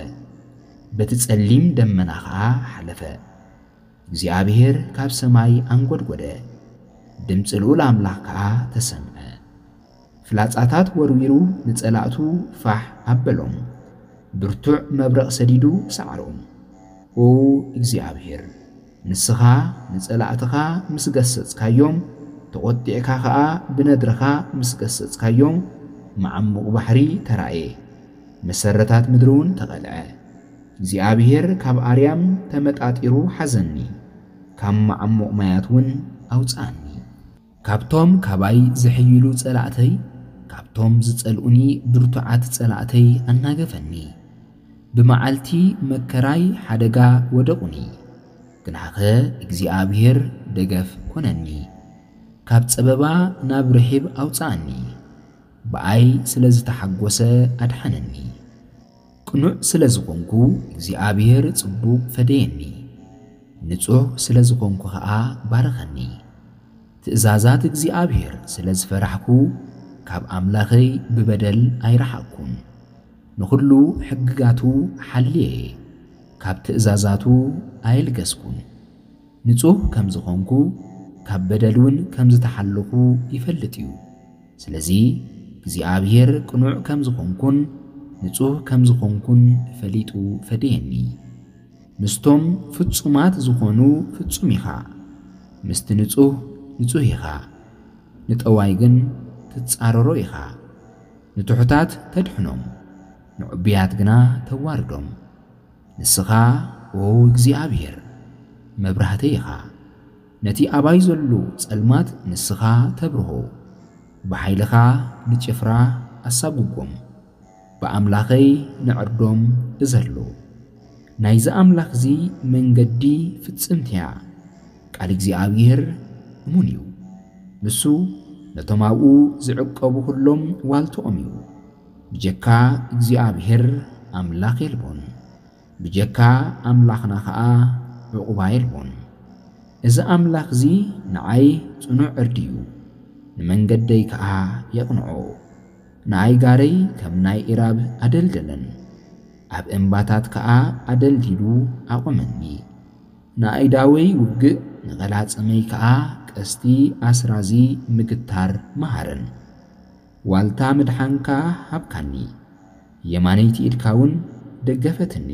በቲ ጸሊም ደመና ኸኣ ሓለፈ። እግዚኣብሔር ካብ ሰማይ ኣንጎድጎደ፣ ድምፂ ልኡል ኣምላኽ ከኣ ተሰምዐ። ፍላጻታት ወርዊሩ ንጸላእቱ ፋሕ ኣበሎም። ብርቱዕ መብረቕ ሰዲዱ ሰዓሮም። ኦ እግዚኣብሔር፣ ንስኻ ንጸላእትኻ ምስ ገሰጽካዮም፣ ተቖጢዕካ ኸኣ ብነድርኻ ምስ ገሰጽካዮም፣ መዓሙቕ ባሕሪ ተራእየ፣ መሰረታት ምድሪ እውን ተቐልዐ። እግዚኣብሔር ካብ ኣርያም ተመጣጢሩ ሓዘኒ፣ ካብ መዓሙቕ ማያት እውን ኣውጽኣኒ። ካብቶም ካባይ ዝሕይሉ ጸላእተይ፣ ካብቶም ዝጸልኡኒ ብርቱዓት ጸላእተይ ኣናገፈኒ። ብመዓልቲ መከራይ ሓደጋ ወደቑኒ፣ ግናኸ እግዚኣብሔር ደገፍ ኮነኒ። ካብ ጸበባ ናብ ርሒብ ኣውጽኣኒ፣ ብኣይ ስለ ዝተሓጎሰ ኣድሓነኒ። ቅኑዕ ስለ ዝኾንኩ እግዚኣብሔር ጽቡቕ ፈደየኒ፣ ንጹሕ ስለ ዝኾንኩ ኸኣ ባረኸኒ። ትእዛዛት እግዚኣብሔር ስለ ዝፈራሕኩ፣ ካብ ኣምላኸይ ብበደል ኣይረሓቕኩን። ንኹሉ ሕግጋቱ ሓልየ፣ ካብ ትእዛዛቱ ኣየልገስኩን። ንጹህ ከም ዝኾንኩ፣ ካብ በደል እውን ከም ዝተሓለኹ ይፈልጥ እዩ። ስለዚ እግዚኣብሔር ቅኑዕ ከም ዝኾንኩን ንጹህ ከም ዝኾንኩን ፈሊጡ ፈደየኒ። ምስቶም ፍጹማት ዝኾኑ ፍጹም ኢኻ፣ ምስቲ ንጹህ ንጹህ ኢኻ። ንጠዋይ ግን ትጻረሮ ኢኻ። ንትሑታት ተድሕኖም፣ ንዕቡያት ግና ተዋርዶም። ንስኻ ኦ እግዚኣብሔር መብራህተይ ኢኻ። ነቲ ኣባይ ዘሎ ጸልማት ንስኻ ተብርሆ። ብሓይልኻ ንጭፍራ ኣሳጉጎም። ብኣምላኸይ ንዕርዶም እዘሎ። ናይዚ ኣምላኽዚ መንገዲ ፍጽምቲ እያ። ቃል እግዚኣብሔር እሙን እዩ። ንሱ ነቶም ኣብኡ ዝዕቀቡ ኩሎም ዋልትኦም እዩ። ብጀካ እግዚኣብሔር ኣምላኽ የልቦን። ብጀካ ኣምላኽና ኸኣ ዕቑባ የልቦን። እዚ ኣምላኽዚ ንዓይ ጽኑዕ ዕርዲ እዩ፣ ንመንገደይ ከኣ የቕንዖ። ንኣይጋረይ ከም ናይ ኢራብ ኣደልደለን፣ ኣብ እምባታት ከኣ ኣደልዲሉ ኣቖመኒ። ንኣእዳወይ ውግእ፣ ንቐላጽመይ ከኣ ቀስቲ ኣስራዚ ምግታር መሃረን። ዋልታ ምድሓንካ ሃብካኒ፣ የማነይቲ ኢድካ እውን ደገፈትኒ፣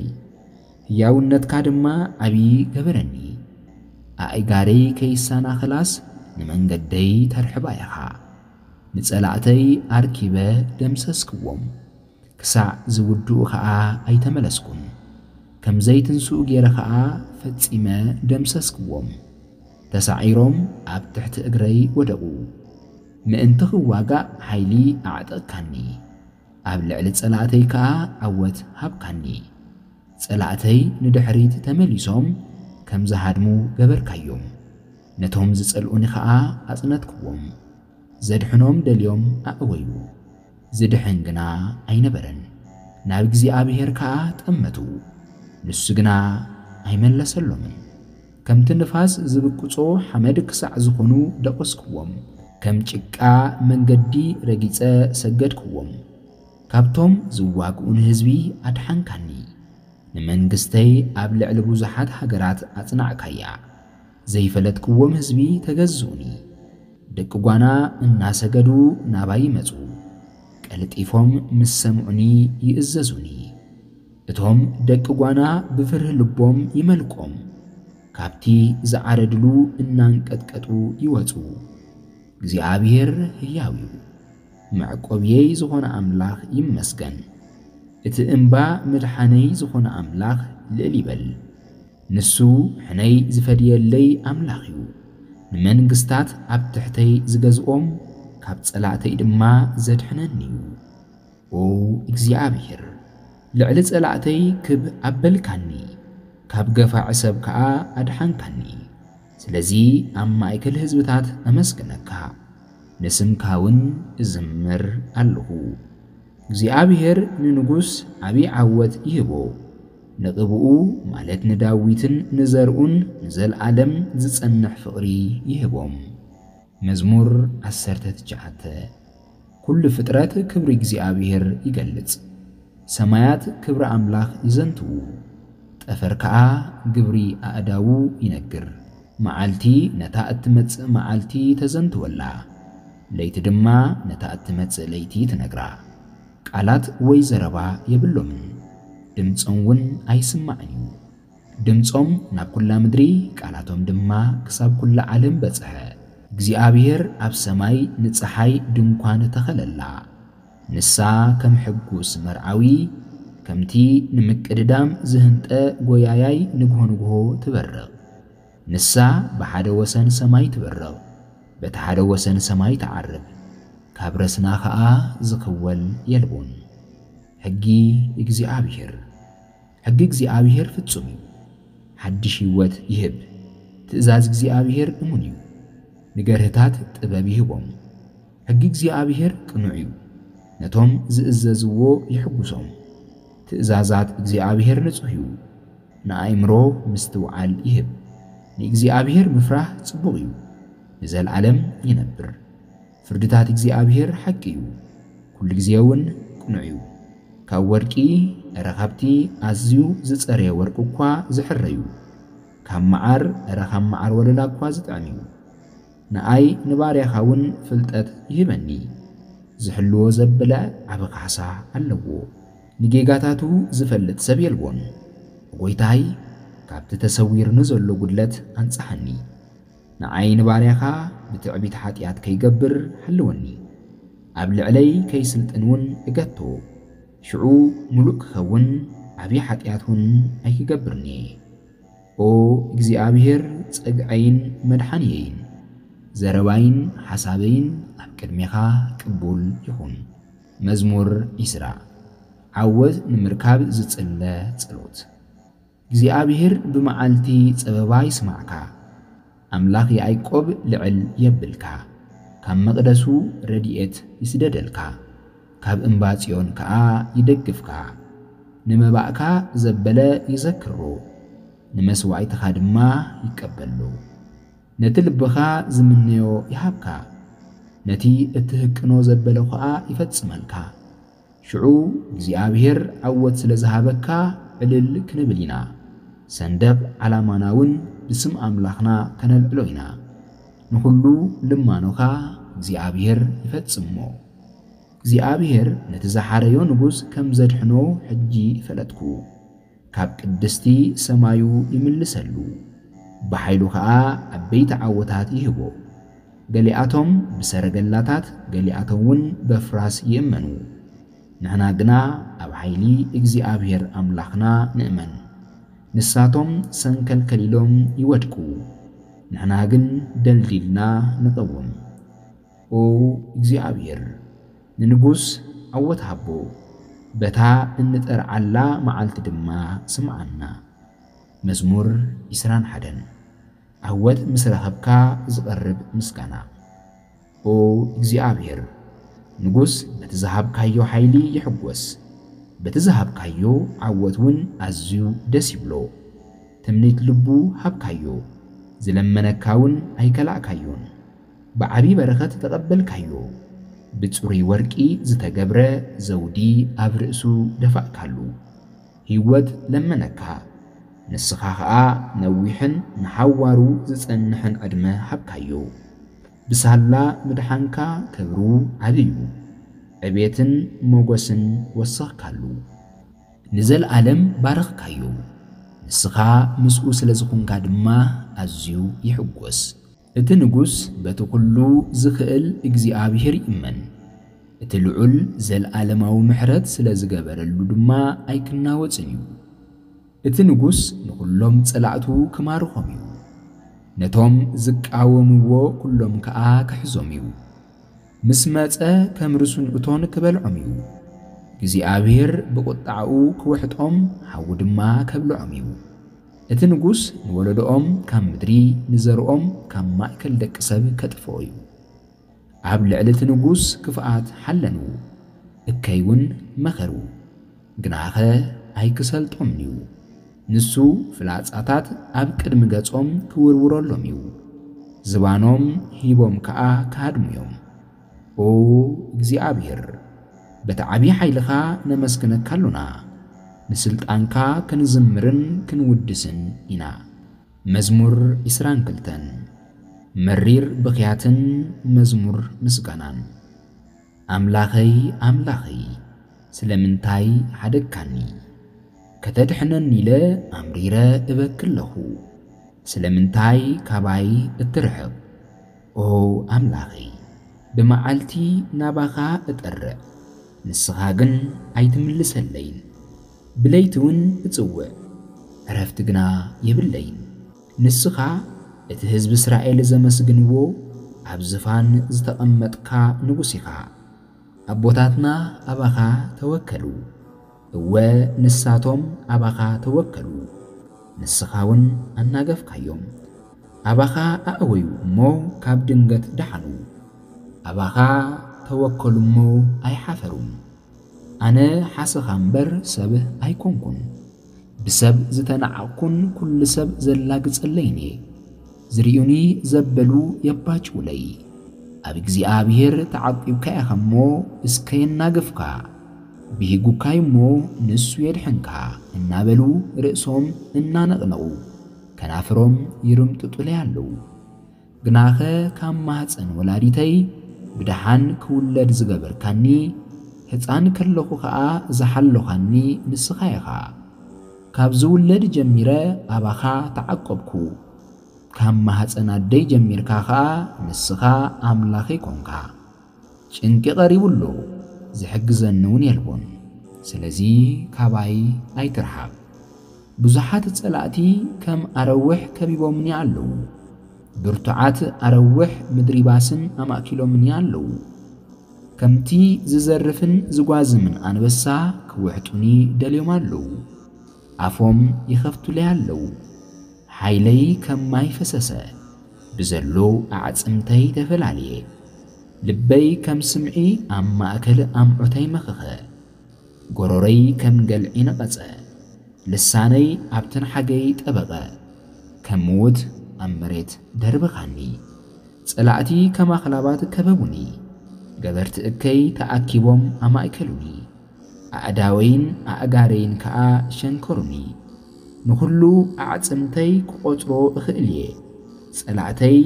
ህያውነትካ ድማ ዓብዪ ገበረኒ። ኣእጋረይ ከይሰናኸላስ ንመንገደይ ተርሕባ ኢኻ። ንጸላእተይ ኣርኪበ ደምሰስክዎም፣ ክሳዕ ዝውድኡ ኸኣ ኣይተመለስኩን። ከም ዘይትንስኡ ገይረ ኸኣ ፈጺመ ደምሰስክዎም። ተሳዒሮም ኣብ ትሕቲ እግረይ ወደቑ። ምእንቲ ኽዋጋእ ሓይሊ ኣዕጠቕካኒ፣ ኣብ ልዕሊ ጸላእተይ ከኣ ዓወት ሃብካኒ። ጸላእተይ ንድሕሪት ተመሊሶም ከም ዝሃድሙ ገበርካዮም። ነቶም ዝጸልኡኒ ኸኣ ኣጽነትክዎም። ዘድሕኖም ደልዮም ኣእወዩ፣ ዝድሕን ግና ኣይነበረን። ናብ እግዚኣብሔር ከኣ ጠመቱ፣ ንሱ ግና ኣይመለሰሎምን። ከምቲ ንፋስ ዝብቅጾ ሓመድ ክሳዕ ዝኾኑ ደቐስክዎም፣ ከም ጭቃ መንገዲ ረጊጸ ሰገድክዎም። ካብቶም ዝዋግኡኒ ህዝቢ ኣድሓንካኒ። ንመንግስተይ ኣብ ልዕሊ ብዙሓት ሃገራት ኣጽናዕካያ። ዘይፈለጥክዎም ህዝቢ ተገዝኡኒ። ደቂ ጓና እናሰገዱ ናባይ ይመጹ። ቀልጢፎም ምስ ሰምዑኒ ይእዘዙኒ። እቶም ደቂ ጓና ብፍርሂ ልቦም ይመልቆም። ካብቲ ዝዓረድሉ እናንቀጥቀጡ ይወጹ። እግዚኣብሔር ህያው እዩ። መዕቆብየይ ዝኾነ ኣምላኽ ይመስገን። እቲ እምባ ምድሓነይ ዝኾነ ኣምላኽ ልዕል ይበል። ንሱ ሕነይ ዝፈድየለይ ኣምላኽ እዩ። ንመንግስታት ኣብ ትሕተይ ዝገዝኦም፣ ካብ ጸላእተይ ድማ ዘድሕነኒ እዩ። ኦ እግዚኣብሔር፣ ልዕሊ ጸላእተይ ክብ ኣበልካኒ፣ ካብ ገፋዒ ሰብ ከኣ ኣድሓንካኒ። ስለዚ ኣብ ማእከል ህዝብታት ኣመስግነካ፣ ንስምካ እውን እዝምር ኣለኹ። እግዚኣብሔር ንንጉስ ዓቢ ዓወት ይህቦ፣ ንቕብኡ ማለት ንዳዊትን ንዘርኡን ንዘልኣለም ዝጸንሕ ፍቕሪ ይህቦም። መዝሙር ዓሰርተ ትሽዓተ። ኩሉ ፍጥረት ክብሪ እግዚኣብሔር ይገልጽ። ሰማያት ክብሪ ኣምላኽ ይዘንትዉ፣ ጠፈር ከኣ ግብሪ ኣእዳዉ ይነግር። መዓልቲ ነታ እትመጽእ መዓልቲ ተዘንትወላ፣ ለይቲ ድማ ነታ እትመጽእ ለይቲ ትነግራ። ቃላት ወይ ዘረባ የብሎምን፣ ድምጾም እውን ኣይስማዕን እዩ። ድምጾም ናብ ኩላ ምድሪ፣ ቃላቶም ድማ ክሳብ ኩላ ዓለም በጽሐ። እግዚኣብሔር ኣብ ሰማይ ንጸሓይ ድንኳን ተኸለላ። ንሳ ከም ሕጉስ መርዓዊ፣ ከምቲ ንምቅድዳም ዝህንጠ ጎያያይ ንግሆ ንግሆ ትበርቕ። ንሳ ብሓደ ወሰን ሰማይ ትበርቕ፣ በቲ ሓደ ወሰን ሰማይ ትዓርብ፣ ካብ ረስና ኸኣ ዝኽወል የልቦን። ሕጊ እግዚኣብሔር። ሕጊ እግዚኣብሔር ፍጹም እዩ፣ ሓድሽ ህይወት ይህብ። ትእዛዝ እግዚኣብሔር እሙን እዩ፣ ንገርህታት ጥበብ ይህቦም። ሕጊ እግዚኣብሔር ቅኑዕ እዩ፣ ነቶም ዝእዘዝዎ የሕጉሶም። ትእዛዛት እግዚኣብሔር ንጹህ እዩ፣ ንኣእምሮ ምስትውዓል ይህብ። ንእግዚኣብሔር ምፍራህ ጽቡቕ እዩ፣ ንዘለዓለም ይነብር። ፍርድታት እግዚኣብሔር ሓቂ እዩ፣ ኩሉ ግዜ እውን ቅኑዕ እዩ። ካብ ወርቂ፣ እረ ካብቲ ኣዝዩ ዝጸረየ ወርቂ እኳ ዝሕረ እዩ። ካብ መዓር፣ እረ ካብ መዓር ወለላ እኳ ዝጥዕም እዩ። ንኣይ ንባርያኻ እውን ፍልጠት ይህበኒ። ዝሕልዎ ዘበለ ዓቢ ካሕሳ ኣለዎ። ንጌጋታቱ ዝፈልጥ ሰብ የልቦን። ጎይታይ፣ ካብቲ ተሰዊርኒ ዘሎ ጉድለት ኣንጽሓኒ። ንዓይ ንባርያኻ ብትዕቢት ሓጢኣት ከይገብር ሓልወኒ። ኣብ ልዕለይ ከይስልጥን እውን እገቶ። ሽዑ ምሉእ ክኸውን ዓቢ ሓጢኣት እውን ኣይክገብርን'የ። ኦ እግዚኣብሔር፣ ጸግዐይን መድሓንየይን፣ ዘረባይን ሓሳበይን ኣብ ቅድሜኻ ቅቡል ይኹን። መዝሙር ዕስራ። ዓወት ንምርካብ ዝጽለ ጸሎት። እግዚኣብሔር ብመዓልቲ ጸበባ ይስማዕካ፣ ኣምላኽ ያዕቆብ ልዕል የብልካ። ካብ መቕደሱ ረድኤት ይስደደልካ፣ ካብ እምባ ጽዮን ከኣ ይደግፍካ። ንመባእካ ዘበለ ይዘክሮ፣ ንመስዋዕትኻ ድማ ይቀበሎ። ነቲ ልብኻ ዝምነዮ ይሃብካ፣ ነቲ እትህቅኖ ዘበለ ኸኣ ይፈጽመልካ። ሽዑ እግዚኣብሔር ዓወት ስለ ዝሃበካ ዕልል ክንብል ኢና፣ ሰንደቕ ዓላማና እውን ብስም ኣምላኽና ከነልዕሎ ኢና። ንኹሉ ልማኖኻ እግዚኣብሔር ይፈጽሞ። እግዚኣብሔር ነቲ ዝሓረዮ ንጉስ ከም ዘድሕኖ ሕጂ ፈለጥኩ። ካብ ቅድስቲ ሰማዩ ይምልሰሉ፣ ብሓይሉ ኸኣ ዓበይቲ ዓወታት ይህቦ። ገሊኣቶም ብሰረገላታት፣ ገሊኣቶም እውን በፍራስ ይእመኑ። ንሕና ግና ኣብ ሓይሊ እግዚኣብሔር ኣምላኽና ንእመን። ንሳቶም ሰንከልከል ኢሎም ይወድቁ፣ ንሕና ግን ደልዲልና ንቐውም። ኦ እግዚኣብሔር፣ ንንጉስ ዓወት ሃቦ፣ በታ እንጠርዓላ መዓልቲ ድማ ስምዓና። መዝሙር ዕስራን ሓደን። ዓወት ምስ ረኸብካ ዝቐርብ ምስጋና። ኦ እግዚኣብሔር፣ ንጉስ በቲ ዝሃብካዮ ሓይሊ ይሕጎስ፣ በቲ ዝሃብካዮ ዓወት እውን ኣዝዩ ደስ ይብሎ። ትምኒት ልቡ ሃብካዮ፣ ዝለመነካ እውን ኣይከላእካዮን። ብዓቢ በረኸት ተቐበልካዮ፣ ብጽሩይ ወርቂ ዝተገብረ ዘውዲ ኣብ ርእሱ ደፋእካሉ። ህይወት ለመነካ፣ ንስኻ ኸኣ ነዊሕን ንሓዋሩ ዝጸንሕን ዕድመ ሃብካዮ። ብሳላ ምድሓንካ ክብሩ ዓቢ እዩ፣ ዕቤትን ሞገስን ወሰኽካሉ። ንዘለኣለም ባረኽካዮ፣ ንስኻ ምስኡ ስለ ዝኾንካ ድማ ኣዝዩ ይሕጎስ። እቲ ንጉስ በቲ ኹሉ ዝኽእል እግዚኣብሔር ይእመን፣ እቲ ልዑል ዘለኣለማዊ ምሕረት ስለ ዝገበረሉ ድማ ኣይክናወጽን እዩ። እቲ ንጉስ ንኹሎም ጸላእቱ ክማርኾም እዩ፣ ነቶም ዝቃወምዎ ኩሎም ከኣ ክሕዞም እዩ። ምስ መጸ ከም ርሱን እቶን ክበልዖም እዩ። እግዚኣብሔር ብቑጣዕኡ ክውሕጦም፣ ሓዊ ድማ ከብልዖም እዩ። እቲ ንጉስ ንወለዶኦም ካብ ምድሪ፣ ንዘርኦም ካብ ማእከል ደቂ ሰብ ከጥፍኦ እዩ። ኣብ ልዕሊ እቲ ንጉስ ክፍኣት ሓለኑ፣ እከይ እውን መኸሩ፣ ግናኸ ኣይክሰልጦምን እዩ። ንሱ ፍላጻታት ኣብ ቅድሚ ገጾም ክውርውረሎም እዩ፣ ዝባኖም ሂቦም ከኣ ክሃድሙ እዮም። ኦ እግዚኣብሔር፣ በቲ ዓቢ ሓይልኻ ነመስግነካ ኣሎና፣ ንስልጣንካ ክንዝምርን ክንውድስን ኢና። መዝሙር ዕስራን ክልተን። መሪር ብኽያትን መዝሙር ምስጋናን። ኣምላኸይ፣ ኣምላኸይ፣ ስለምንታይ ሓደግካኒ? ከተድሕነኒ ኢለ ኣምሪረ እበኪ ኣለኹ። ስለምንታይ ካባይ እትርሕቕ? ኦ ኣምላኸይ፣ ብመዓልቲ ናባኻ እጠርዕ፣ ንስኻ ግን ኣይትምልሰለይን። ብለይቲ እውን እጽውዕ፣ ዕረፍቲ ግና የብለይን። ንስኻ እቲ ህዝቢ እስራኤል ዘመስግንዎ፣ ኣብ ዝፋን ዝተቐመጥካ ንጉስ ኢኻ። ኣቦታትና ኣባኻ ተወከሉ፣ እወ፣ ንሳቶም ኣባኻ ተወከሉ፣ ንስኻ እውን ኣናገፍካዮም። ኣባኻ ኣእወዩ እሞ ካብ ድንገት ደሓኑ፣ ኣባኻ ተወከሉ እሞ ኣይሓፈሩን። ኣነ ሓሰኻ እምበር ሰብ ኣይኮንኩን፣ ብሰብ ዝተናዕቕኩን ኩሉ ሰብ ዘላግጸለይን እየ። ዝርእዩኒ ዘበሉ የባጭውለይ። ኣብ እግዚኣብሔር ተዓቂብካ ኢኻ እሞ እስከ የናግፍካ፣ ብሂጉካይ እሞ ንሱ የድሕንካ እናበሉ ርእሶም እናነቕነቑ ከናፍሮም ይርምጥጡለይ ኣለዉ። ግናኸ ካብ ማህፀን ወላዲተይ ብደሓን ክውለድ ዝገበርካኒ፣ ህፃን ከለኹ ኸዓ ዝሓለኻኒ ንስኻ ኢኻ። ካብ ዝውለድ ጀሚረ ኣባኻ ተዓቆብኩ። ካብ ማህፀን ኣደይ ጀሚርካ ኸዓ ንስኻ ኣምላኸይ ኮንካ። ጭንቂ ቀሪቡ ኣሎ፣ ዝሕግዘኒ እውን የልቦን። ስለዚ ካባይ ኣይትርሓቕ። ብዙሓት ጸላእቲ ከም ኣረውሕ ከቢቦምኒ ኣለዉ። ብርቱዓት ኣረውሕ ምድሪ ባስን ኣማእኪሎምኒ ኣለዉ። ከምቲ ዝዘርፍን ዝጓዝምን ኣንበሳ ክውሕጡኒ ደልዮም ኣለዉ። ኣፎም ይኸፍቱለይ ኣለዉ። ሓይለይ ከም ማይ ፈሰሰ፣ ብዘሎ ኣዕጽምተይ ተፈላልየ። ልበይ ከም ስምዒ ኣብ ማእከል ኣምዑተይ መኸኸ። ጎሮረይ ከም ገልዒ ነቐጸ። ልሳነይ ኣብ ትንሓገይ ጠበቐ። ከም ምዉት ኣብ መሬት ደርበኻኒ። ጸላእቲ ከም ኣኽላባት ከበቡኒ። ገበርቲ እከይ ተኣኪቦም ኣማእከሉኒ። ኣእዳወይን ኣእጋረይን ከኣ ሸንከሩኒ። ንኹሉ ኣዕጽምተይ ክቖጽሮ እኽእል እየ። ጸላእተይ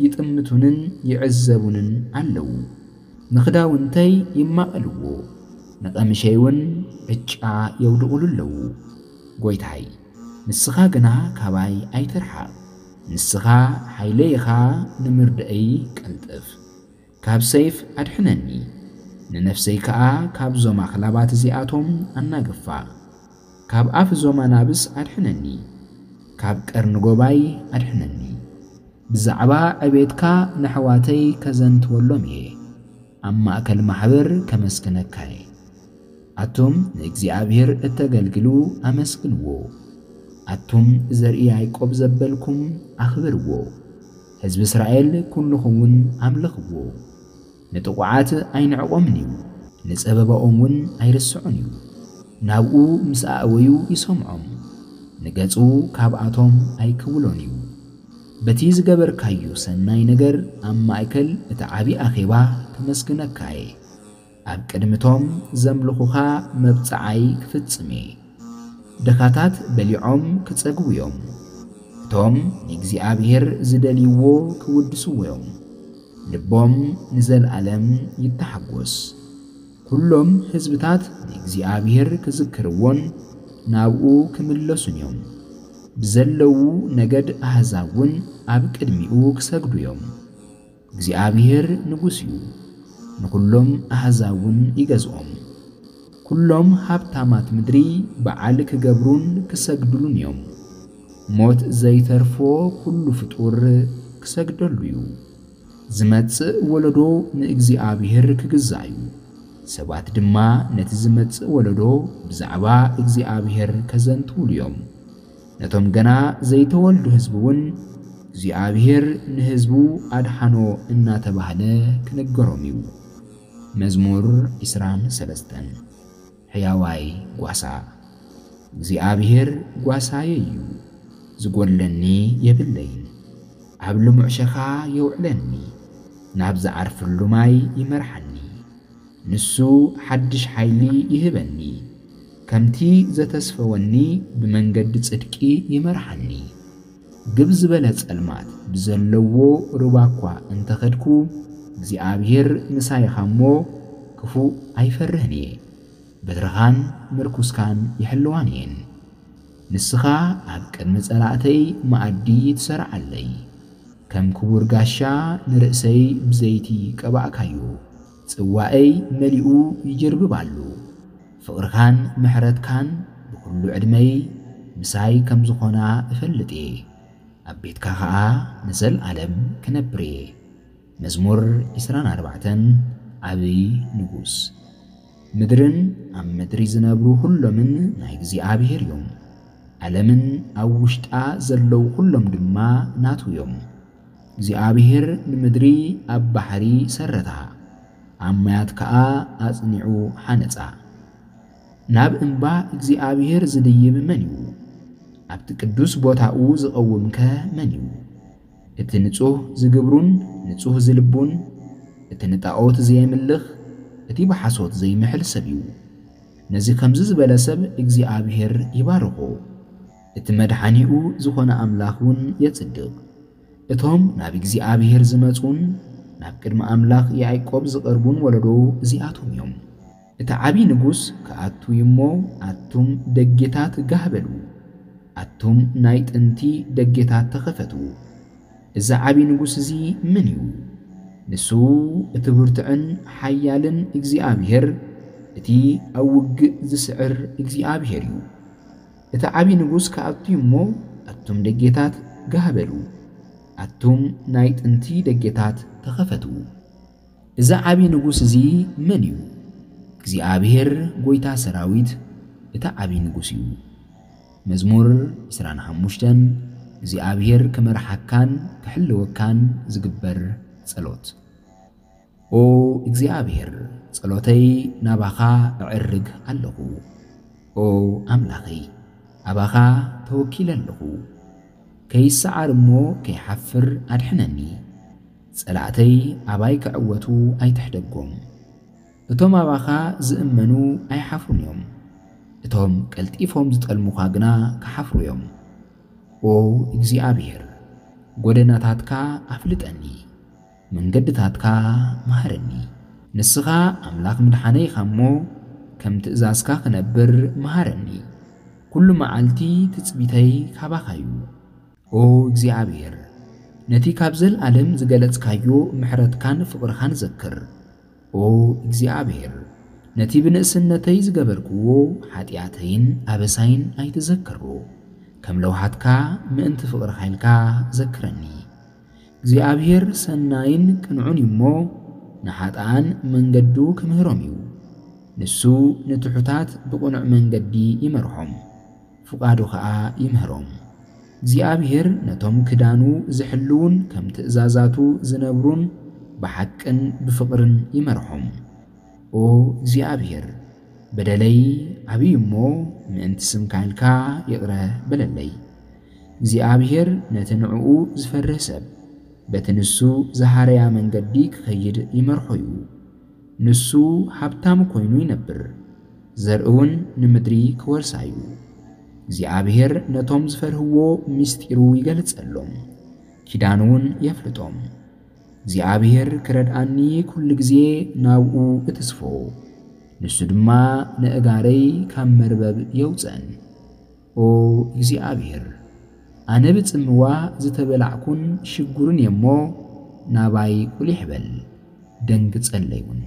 ይጥምቱንን ይዕዘቡንን ኣለዉ። ንኽዳውንተይ ይማቐልዎ፣ ንቐምሸይ እውን ዕጫ የውድቑሉ ኣለዉ። ጐይታይ፣ ንስኻ ግና ካባይ ኣይትርሓቕ። ንስኻ ሓይለይ ኢኻ፣ ንምርድኣይ ቀልጥፍ። ካብ ሰይፍ ኣድሕነኒ፣ ንነፍሰይ ከኣ ካብዞም ኣኽላባት እዚኣቶም ኣናግፋ። ካብ ኣፍ እዞም ኣናብስ ኣድሕነኒ፣ ካብ ቀርኒ ጎባይ ኣድሕነኒ። ብዛዕባ ዕቤትካ ነሕዋተይ ከዘንትወሎም እየ፣ ኣብ ማእከል ማሕበር ከመስግነካ እየ። ኣቱም ንእግዚኣብሔር እተገልግሉ ኣመስግንዎ። ኣቱም ዘርኢ ያዕቆብ ዘበልኩም ኣኽብርዎ። ህዝቢ እስራኤል ኩልኹም እውን ኣምልኽዎ። ንጥቑዓት ኣይንዕቖምን እዩ፣ ንጸበባኦም እውን ኣይርስዖን እዩ። ናብኡ ምስ ኣእወዩ ይሰምዖም፣ ንገጹ ካብኣቶም ኣይክውሎን እዩ። በቲ ዝገበርካዮ ሰናይ ነገር ኣብ ማእከል እቲ ዓቢ ኣኼባ ከመስግነካ እየ። ኣብ ቅድሚቶም ዘምልኹኻ መብጽዓይ ክፍጽም እየ። ድኻታት በሊዖም ክጸግቡ እዮም። እቶም ንእግዚኣብሔር ዝደልይዎ ክውድስዎ እዮም። ልቦም ንዘለኣለም ይተሓጎስ። ኩሎም ህዝብታት ንእግዚኣብሔር ክዝክርዎን ናብኡ ክምለሱን እዮም። ብዘለዉ ነገድ ኣህዛብ እውን ኣብ ቅድሚኡ ክሰግዱ እዮም። እግዚኣብሔር ንጉስ እዩ፣ ንኹሎም ኣህዛብ እውን ይገዝኦም። ኩሎም ሃብታማት ምድሪ በዓል ክገብሩን ክሰግዱሉን እዮም። ሞት ዘይተርፎ ኩሉ ፍጡር ክሰግደሉ እዩ። ዝመጽእ ወለዶ ንእግዚኣብሔር ክግዛእ እዩ። ሰባት ድማ ነቲ ዝመጽእ ወለዶ ብዛዕባ እግዚኣብሔር ከዘንትዉሉ እዮም። ነቶም ገና ዘይተወልዱ ህዝቢ እውን እግዚኣብሔር ንህዝቡ ኣድሓኖ እናተባህለ ክንገሮም እዩ። መዝሙር ዕስራን ሰለስተን። ሕያዋይ ጓሳ። እግዚኣብሔር ጓሳየ እዩ፣ ዝጎድለኒ የብለይን። ኣብ ልሙዕ ሸኻ የውዕለኒ፣ ናብ ዝዓርፍሉ ማይ ይመርሓኒ። ንሱ ሓድሽ ሓይሊ ይህበኒ፣ ከምቲ ዘተስፈወኒ ብመንገዲ ጽድቂ ይመርሓኒ። ግብ ዝበለ ጸልማት ብዘለዎ ሩባ እኳ እንተኸድኩ፣ እግዚኣብሔር ምሳይ ኻሞ ክፉእ ኣይፈርህን እየ። በትርኻን ምርኩስካን ይሕልዋን እየን። ንስኻ ኣብ ቅድሚ ጸላእተይ መኣዲ ትሰርዓለይ። ከም ክቡር ጋሻ ንርእሰይ ብዘይቲ ቀባእካዮ፣ ጽዋእይ መሊኡ ይጅርብብ ኣሎ። ፍቕርካን ምሕረትካን ብኹሉ ዕድመይ ምሳይ ከም ዝኾና እፈልጥ እየ። ኣብ ቤትካ ኸኣ ንዘልኣለም ክነብር እየ። መዝሙር ዕስራን ኣርባዕተን። ዓብዪ ንጉስ። ምድርን ኣብ ምድሪ ዝነብሩ ኩሎምን ናይ እግዚኣብሔር እዮም። ዓለምን ኣብ ውሽጣ ዘለዉ ኩሎም ድማ ናቱ እዮም። እግዚኣብሔር ንምድሪ ኣብ ባሕሪ ሰረታ፣ ኣብ ማያት ከኣ ኣጽኒዑ ሓነጻ። ናብ እምባ እግዚኣብሔር ዝድይብ መን እዩ? ኣብቲ ቅዱስ ቦታኡ ዝቐውምከ መን እዩ? እቲ ንጹህ ዝግብሩን ንጹህ ዝልቡን፣ እቲ ንጣኦት ዘየምልኽ፣ እቲ ብሓሶት ዘይምሕል ሰብ እዩ። ነዚ ከምዚ ዝበለ ሰብ እግዚኣብሔር ይባርኾ፣ እቲ መድሓኒኡ ዝኾነ ኣምላኽ እውን የጽድቕ። እቶም ናብ እግዚኣብሔር ዝመጹን ናብ ቅድሚ ኣምላኽ ያዕቆብ ዝቐርቡን ወለዶ እዚኣቶም እዮም። እቲ ዓቢ ንጉስ ክኣቱ እዩ እሞ፣ ኣቱም ደጌታት ጋህ በሉ፣ ኣቱም ናይ ጥንቲ ደጌታት ተኸፈቱ። እዚ ዓቢ ንጉስ እዚ መን እዩ? ንሱ እቲ ብርቱዕን ሓያልን እግዚኣብሔር፣ እቲ ኣብ ውግእ ዝስዕር እግዚኣብሔር እዩ። እቲ ዓቢ ንጉስ ክኣቱ እዩ እሞ፣ ኣቱም ደጌታት ጋህ በሉ፣ ኣቱም ናይ ጥንቲ ደጌታት ተኸፈቱ። እዚ ዓቢ ንጉስ እዚ መን እዩ? እግዚኣብሔር ጐይታ ሰራዊት እቲ ዓቢ ንጉስ እዩ። መዝሙር ዕስራን ሓሙሽተን። እግዚኣብሔር ክመርሓካን ክሕልወካን ዝግበር ጸሎት። ኦ እግዚኣብሔር፣ ጸሎተይ ናባኻ እዕርግ ኣለኹ። ኦ ኣምላኸይ፣ ኣባኻ ተወኪለ ኣለኹ። ከይሰዓር እሞ ከይሓፍር ኣድሕነኒ። ጸላእተይ ኣባይ ክዕወቱ ኣይትሕደጎም። እቶም ኣባኻ ዝእመኑ ኣይሓፍሩን እዮም። እቶም ቀልጢፎም ዝጠልሙኻ ግና ክሓፍሩ እዮም። ኦ እግዚኣብሔር፣ ጐደናታትካ ኣፍልጠኒ፣ መንገድታትካ መሃረኒ። ንስኻ ኣምላኽ ምድሓነይ ኢኻ እሞ፣ ከም ትእዛዝካ ክነብር መሃረኒ። ኩሉ መዓልቲ ትጽቢተይ ካባኻ እዩ። ኦ እግዚኣብሔር፣ ነቲ ካብ ዘለኣለም ዝገለጽካዮ ምሕረትካን ፍቕርኻን ዘክር። ኦ እግዚኣብሔር፣ ነቲ ብንእስነተይ ዝገበርክዎ ሓጢኣተይን ኣበሳይን ኣይትዘክሮ። ከም ለውሃትካ ምእንቲ ፍቕርኻ ኢልካ ዘክረኒ። እግዚኣብሔር ሰናይን ቅንዑን እዩ እሞ፣ ንሓጥኣን መንገዱ ክምህሮም እዩ። ንሱ ንትሑታት ብቕኑዕ መንገዲ ይመርሖም፣ ፍቓዱ ኸኣ ይምህሮም። እግዚኣብሔር ነቶም ክዳኑ ዝሕልዉን ከም ትእዛዛቱ ዝነብሩን ብሓቅን ብፍቕርን ይመርሖም። ኦ እግዚኣብሔር፣ በደለይ ዓብዪ እሞ፣ ምእንቲ ስምካ ኢልካ ይቕረ በለለይ። እግዚኣብሔር ነቲ ንዕኡ ዝፈርህ ሰብ፣ በቲ ንሱ ዝሃረያ መንገዲ ክኸይድ ይመርሖ እዩ። ንሱ ሃብታም ኮይኑ ይነብር፣ ዘርእውን ንምድሪ ክወርሳ እዩ። እግዚኣብሔር ነቶም ዝፈርህዎ ምስጢሩ ይገልጸሎም፣ ኪዳኑ እውን የፍልጦም። እግዚኣብሔር ክረድኣኒ ኩሉ ግዜ ናብኡ እትስፎ፣ ንሱ ድማ ነእጋረይ ካብ መርበብ የውፅእን። ኦ እግዚኣብሔር፣ ኣነ ብጽምዋ ዝተበላዕኩን ሽጉርን እየ እሞ፣ ናባይ ቁሊሕ በል፣ ደንግጸለይ እውን።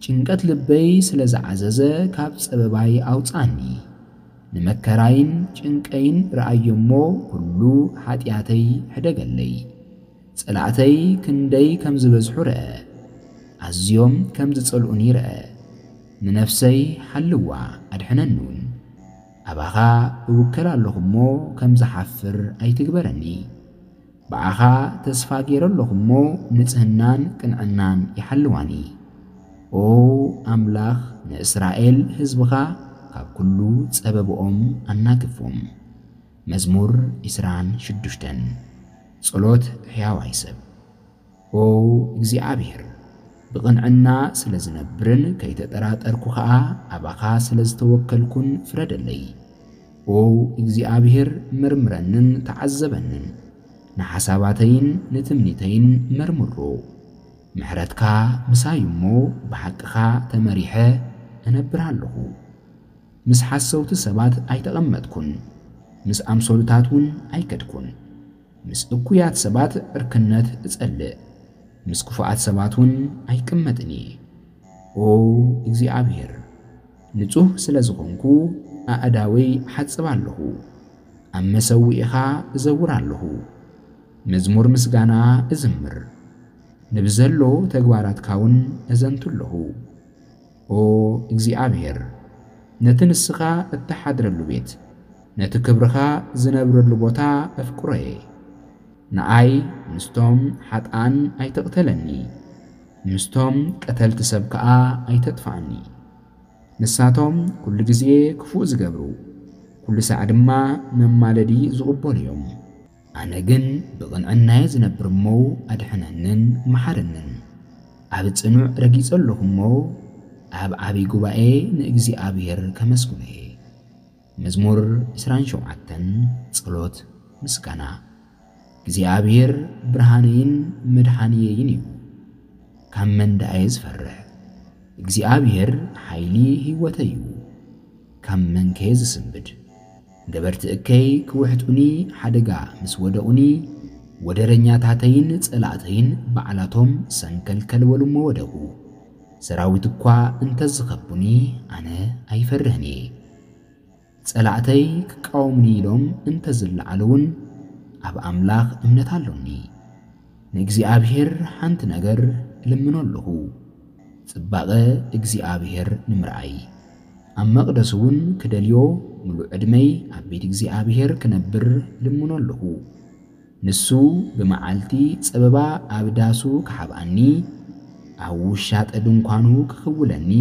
ጭንቀት ልበይ ስለ ዝዓዘዘ፣ ካብ ጸበባይ ኣውጽኣኒ። ንመከራይን ጭንቀይን ረኣዮ እሞ፣ ኩሉ ሓጢኣተይ ሕደገለይ። ጸላእተይ ክንደይ ከም ዝበዝሑ ርአ፣ ኣዝዮም ከም ዝጸልኡኒ ርአ። ንነፍሰይ ሓልዋ፣ ኣድሕነኒ እውን። ኣባኻ እውከል ኣለኹ እሞ፣ ከም ዝሓፍር ኣይትግበረኒ። ብኣኻ ተስፋ ገይረ ኣለኹ እሞ፣ ንጽህናን ቅንዕናን ይሓልዋኒ። ኦ ኣምላኽ፣ ንእስራኤል ህዝብኻ ካብ ኩሉ ጸበብኦም ኣናግፎም። መዝሙር ዕስራን ሽዱሽተን። ጸሎት ሕያዋይ ሰብ። ኦ እግዚኣብሔር፣ ብቕንዕና ስለ ዝነብርን ከይተጠራጠርኩ ኸኣ ኣባኻ ስለ ዝተወከልኩን ፍረደለይ። ኦ እግዚኣብሔር፣ መርምረንን ተዓዘበንን፣ ንሓሳባተይን ንትምኒተይን መርምሮ። ምሕረትካ ምሳይ እሞ ብሓቅኻ ተመሪሐ እነብር ኣለኹ። ምስ ሓሰውቲ ሰባት ኣይተቐመጥኩን፣ ምስ ኣምሰሉታት እውን ኣይከድኩን። ምስ እኩያት ሰባት ዕርክነት እጸልእ፣ ምስ ክፉኣት ሰባት እውን ኣይቅመጥን እየ። ኦ እግዚኣብሔር፣ ንጹህ ስለ ዝኾንኩ ኣእዳወይ እሓጽብ ኣለኹ፣ ኣብ መሰውኢኻ እዘውር ኣለኹ። መዝሙር ምስጋና እዝምር፣ ንብዘሎ ተግባራትካ እውን እዘንቱ ኣለኹ። ኦ እግዚኣብሔር፣ ነቲ ንስኻ እትሓድረሉ ቤት፣ ነቲ ክብርኻ ዝነብረሉ ቦታ እፍቅሮ እየ። ንኣይ ምስቶም ሓጥኣን ኣይትቕተለኒ፣ ምስቶም ቀተልቲ ሰብ ከኣ ኣይተጥፍኣኒ። ንሳቶም ኩሉ ግዜ ክፉእ ዝገብሩ፣ ኩሉ ሳዕ ድማ መማለዲ ዝቕበሉ እዮም። ኣነ ግን ብቕንዕናየ ዝነብር እሞ ኣድሕነንን መሓረንን። ኣብ ጽኑዕ ረጊጸ ኣለኹ እሞ፣ ኣብ ዓቢ ጉባኤ ንእግዚኣብሔር ከመስግኖ እየ። መዝሙር ዕስራን ሸውዓተን። ጸሎት ምስጋና። እግዚኣብሔር ብርሃነይን መድሓንየይን እዩ። ካብ መን ደኣየ ዝፈርሕ? እግዚኣብሔር ሓይሊ ህይወተይ እዩ። ካብ መንከ ዝስንብድ? ገበርቲ እከይ ክውሕጡኒ ሓደጋ ምስ ወደቑኒ፣ ወደረኛታተይን ጸላእተይን ባዕላቶም ሰንከልከል በሉ እሞ ወደቑ። ሰራዊት እኳ እንተዝኸቡኒ ኣነ ኣይፈርህን እየ። ጸላእተይ ክቃወሙኒ ኢሎም እንተዝለዓሉ እውን ኣብ ኣምላኽ እምነት ኣሎኒ። ንእግዚኣብሔር ሓንቲ ነገር እልምኖ ኣለኹ፣ ጽባቐ እግዚኣብሔር ንምርኣይ። ኣብ መቕደስ እውን ክደልዮ፣ ምሉእ ዕድመይ ኣብ ቤት እግዚኣብሔር ክነብር እልምኖ ኣለኹ። ንሱ ብመዓልቲ ጸበባ ኣብ ዳሱ ክሓብኣኒ፣ ኣብ ውሻጠ ድንኳኑ ክኽውለኒ፣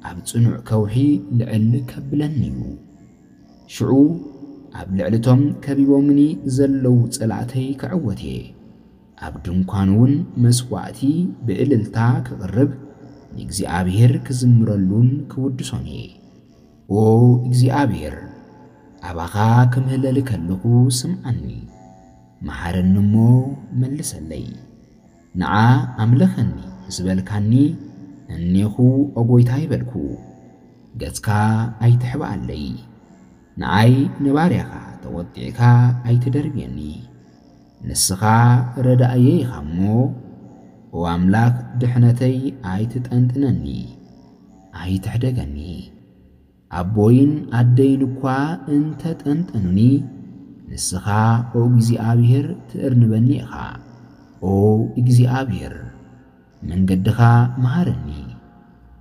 ኣብ ጽኑዕ ከውሒ ልዕል ከብለኒ እዩ። ሽዑ ኣብ ልዕሊ እቶም ከቢቦምኒ ዘለዉ ጸላእተይ ክዕወት እየ። ኣብ ድንኳኑ እውን መስዋእቲ ብእልልታ ክቕርብ፣ ንእግዚኣብሔር ክዝምረሉን ክውድሶን እየ። ኦ እግዚኣብሔር፣ ኣባኻ ክምህለል ከለኹ ስምዓኒ፣ መሓረኒ እሞ መልሰለይ። ንዓ ኣምልኸኒ ምስ በልካኒ፣ እኔኹ፣ ኦ ጐይታይ በልኩ፣ ገጽካ ኣይትሕብኣለይ። ንዓይ ንባርያኻ ተቖጢዕካ ኣይትደርብየኒ። ንስኻ ረዳእየይ ኢኻ እሞ፣ ኦ ኣምላኽ ድሕነተይ ኣይትጠንጥነኒ፣ ኣይትሕደገኒ። ኣቦይን ኣደይን እኳ እንተ ጠንጠኑኒ፣ ንስኻ ኦ እግዚኣብሔር ትእርንበኒ ኢኻ። ኦ እግዚኣብሔር፣ መንገድኻ መሃረኒ።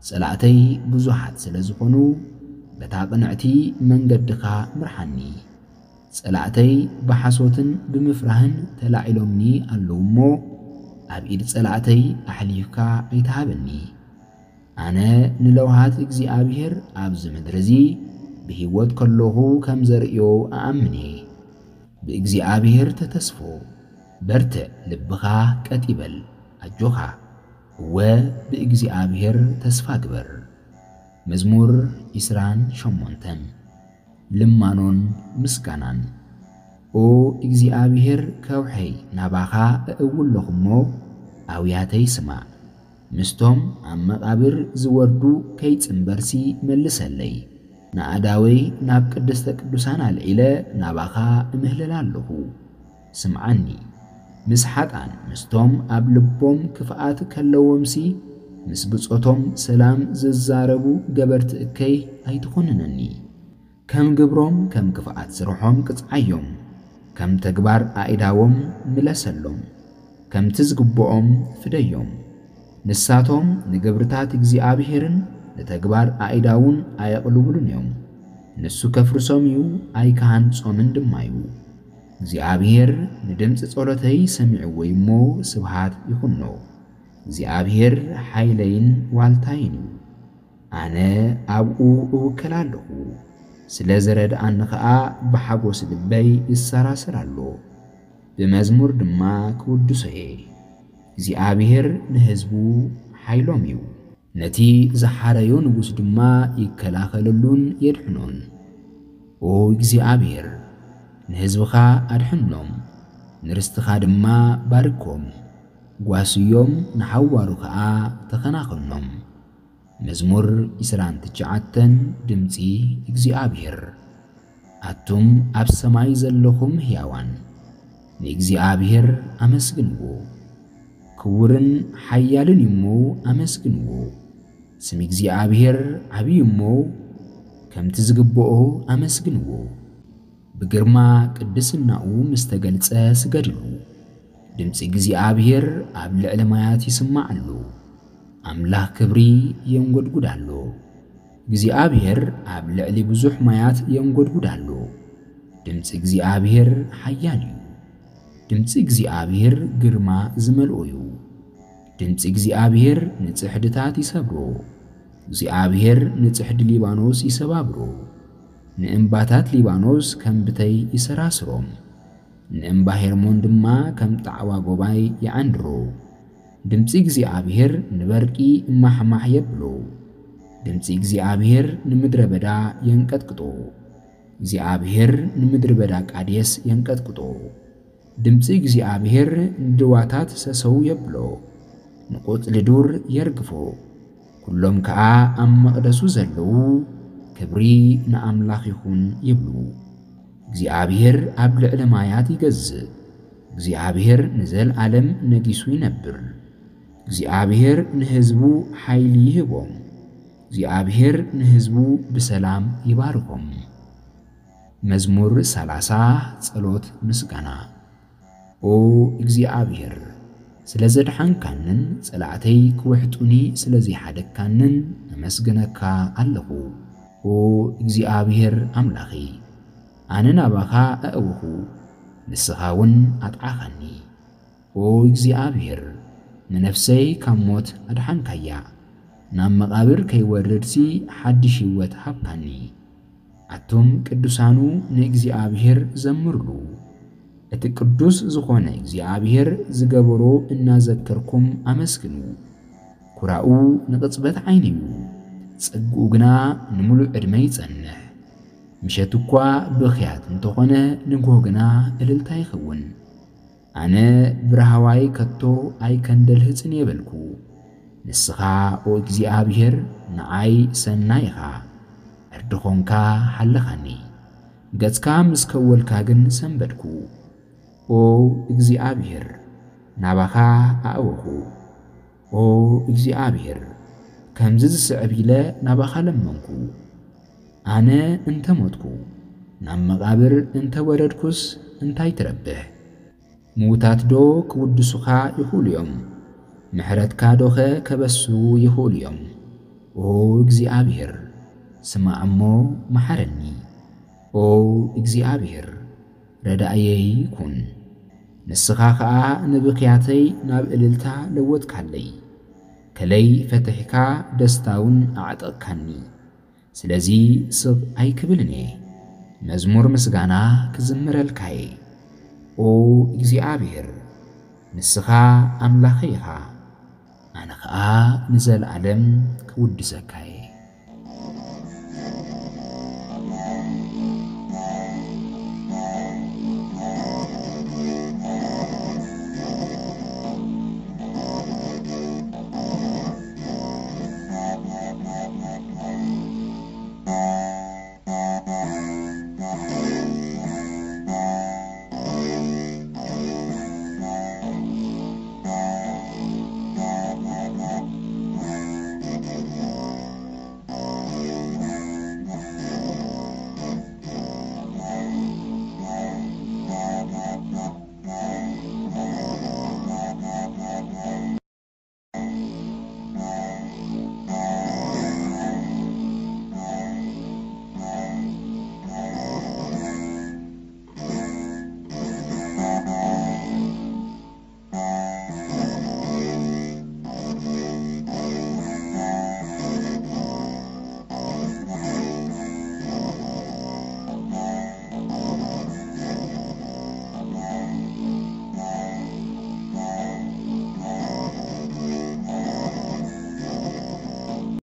ጸላእተይ ብዙሓት ስለ ዝኾኑ፣ በታ ቅንዕቲ መንገድኻ ምርሓኒ። ጸላእተይ ብሓሶትን ብምፍራህን ተላዒሎምኒ ኣለዉ እሞ፣ ኣብ ኢድ ጸላእተይ ኣሕሊፍካ ኣይትሃበኒ። ኣነ ንለውሃት እግዚኣብሔር ኣብዚ ምድሪ እዚ ብህይወት ከለኹ ከም ዘርእዮ እኣምን እየ። ብእግዚኣብሔር ተተስፎ፣ በርትዕ፣ ልብኻ ቀጥ ይበል፣ ኣጆኻ፣ እወ፣ ብእግዚኣብሔር ተስፋ ግበር። መዝሙር ዕስራን ሸሞንተን። ልማኖን ምስጋናን። ኦ እግዚኣብሔር፣ ከውሐይ ናባኻ እእዊ ኣለኹ እሞ፣ ኣውያተይ ስማዕ። ምስቶም ኣብ መቓብር ዝወርዱ ከይጽንበርሲ መልሰለይ። ንኣእዳወይ ናብ ቅድስተ ቅዱሳን ኣልዒለ ናባኻ እምህለል ኣለኹ። ስምዓኒ። ምስ ሓጥኣን፣ ምስቶም ኣብ ልቦም ክፍኣት ከለዎምሲ፣ ምስ ብጾቶም ሰላም ዝዛረቡ ገበርቲ እከይ ኣይትኹንነኒ። ከም ግብሮም፣ ከም ክፍኣት ስርሖም ቅጽዓዮም፣ ከም ተግባር ኣእዳዎም ምለሰሎም፣ ከምቲ ዝግብኦም ፍደዮም። ንሳቶም ንግብርታት እግዚኣብሔርን ንተግባር ኣእዳዉን ኣየቕልቡሉን እዮም። ንሱ ከፍርሶም እዩ፣ ኣይክሃንጾምን ድማ እዩ። እግዚኣብሔር ንድምፂ ጸሎተይ ሰሚዕዎ እዩ እሞ፣ ስብሃት ይኹኖ። እግዚኣብሔር ሓይለይን ዋልታይን እዩ። ኣነ ኣብኡ እውከል ኣለኹ። ስለ ዝረድኣኒ ኸኣ ብሓጎስ ልበይ ይሰራሰር ኣሎ። ብመዝሙር ድማ ክውድሶ እየ። እግዚኣብሔር ንህዝቡ ሓይሎም እዩ። ነቲ ዝሓረዮ ንጉስ ድማ ይከላኸለሉን የድሕኖን። ኦ እግዚኣብሔር፣ ንህዝብኻ ኣድሕኖም፣ ንርስትኻ ድማ ባርኮም። ጓስዮም ንሓዋሩ ኸኣ ተኸናኸኖም። መዝሙር ዕስራን ትሽዓተን። ድምጺ እግዚኣብሔር። ኣቱም ኣብ ሰማይ ዘለኹም ሕያዋን፣ ንእግዚኣብሔር ኣመስግንዎ። ክቡርን ሓያልን እሞ ኣመስግንዎ። ስም እግዚኣብሔር ዓብዪ እሞ፣ ከምቲ ዝግብኦ ኣመስግንዎ። ብግርማ ቅድስናኡ ምስ ተገልጸ ስገድሉ። ድምጺ እግዚኣብሔር ኣብ ልዕሊ ማያት ይስማዕ ኣሎ። ኣምላኽ ክብሪ የንጎድጉድ ኣሎ። እግዚኣብሔር ኣብ ልዕሊ ብዙሕ ማያት የንጎድጉድ ኣሎ። ድምጺ እግዚኣብሔር ሓያል እዩ። ድምጺ እግዚኣብሔር ግርማ ዝመልኦ እዩ። ድምጺ እግዚኣብሔር ንጽሕድታት ይሰብሮ። እግዚኣብሔር ንጽሕዲ ሊባኖስ ይሰባብሮ። ንእምባታት ሊባኖስ ከም ብተይ ይሰራስሮም። ንእምባ ሄርሞን ድማ ከም ጣዕዋ ጎባይ ይዓንድሮ። ድምጺ እግዚኣብሔር ንበርቂ ማሕማሕ የብሎ። ድምጺ እግዚኣብሔር ንምድረ በዳ የንቀጥቅጦ። እግዚኣብሔር ንምድረ በዳ ቃዴስ የንቀጥቅጦ። ድምጺ እግዚኣብሔር ንድዋታት ሰሰው የብሎ። ንቆጽሊ ዱር የርግፎ። ኩሎም ከኣ ኣብ መቕደሱ ዘለዉ፣ ክብሪ ንኣምላኽ ይኹን ይብሉ። እግዚኣብሔር ኣብ ልዕሊ ማያት ይገዝእ። እግዚኣብሔር ንዘለኣለም ነጊሱ ይነብር። እግዚኣብሔር ንህዝቡ ሓይሊ ይህቦም። እግዚኣብሔር ንህዝቡ ብሰላም ይባርኾም። መዝሙር ሰላሳ። ጸሎት ምስጋና። ኦ እግዚኣብሔር፣ ስለ ዘድሓንካንን ጸላእተይ ክውሕጡኒ ስለ ዘይሓደግካንን እመስግነካ ኣለኹ። ኦ እግዚኣብሔር ኣምላኸይ፣ ኣነ ናባኻ ኣእወኹ፣ ንስኻ እውን ኣጥዓኻኒ። ኦ እግዚኣብሔር፣ ንነፍሰይ ካብ ሞት ኣድሓንካያ፣ ናብ መቓብር ከይወርድሲ ሓድሽ ህይወት ሃብካኒ። ኣቱም ቅዱሳኑ ንእግዚኣብሔር ዘምሩሉ። እቲ ቅዱስ ዝኾነ እግዚኣብሔር ዝገበሮ እናዘከርኩም ኣመስግኑ። ኩራኡ ንቕጽበት ዓይኒ እዩ፣ ጸግኡ ግና ንምሉእ ዕድመ ይጸንሕ። ምሸት እኳ ብኽያት እንተኾነ፣ ንግሆ ግና እልልታ ይኸውን። ኣነ ብራህዋይ ከቶ ኣይከንደልህጽን የበልኩ። ንስኻ ኦ እግዚኣብሔር ንዓይ ሰናይ ኢኻ፣ ዕርዲ ኾንካ ሓለኻኒ። ገጽካ ምስ ከወልካ ግን ሰንበድኩ። ኦ እግዚኣብሔር ናባኻ ኣእወኹ። ኦ እግዚኣብሔር ከምዚ ዝስዕብ ኢለ ናባኻ ለመንኩ። ኣነ እንተ ሞትኩ ናብ መቓብር እንተ ወረድኩስ እንታይ ትረብሕ? ምዉታት ዶ ክውድሱኻ ይኽእሉ እዮም? ምሕረትካ ዶኸ ከበስሩ ይኽእሉ እዮም? ኦ እግዚኣብሔር፣ ስማዕ እሞ መሓረኒ። ኦ እግዚኣብሔር፣ ረዳእየይ ኩን። ንስኻ ኸኣ ንብኽያተይ ናብ እልልታ ለወጥካለይ። ከለይ ፈትሕካ ደስታውን ኣዕጠቕካኒ። ስለዚ ስቕ ኣይክብልን እየ። መዝሙር ምስጋና ክዝምረልካ እየ። ኦ እግዚኣብሔር፣ ንስኻ ኣምላኸይ ኢኻ። ኣነ ኸኣ ንዘለኣለም ክውድሰካ እየ።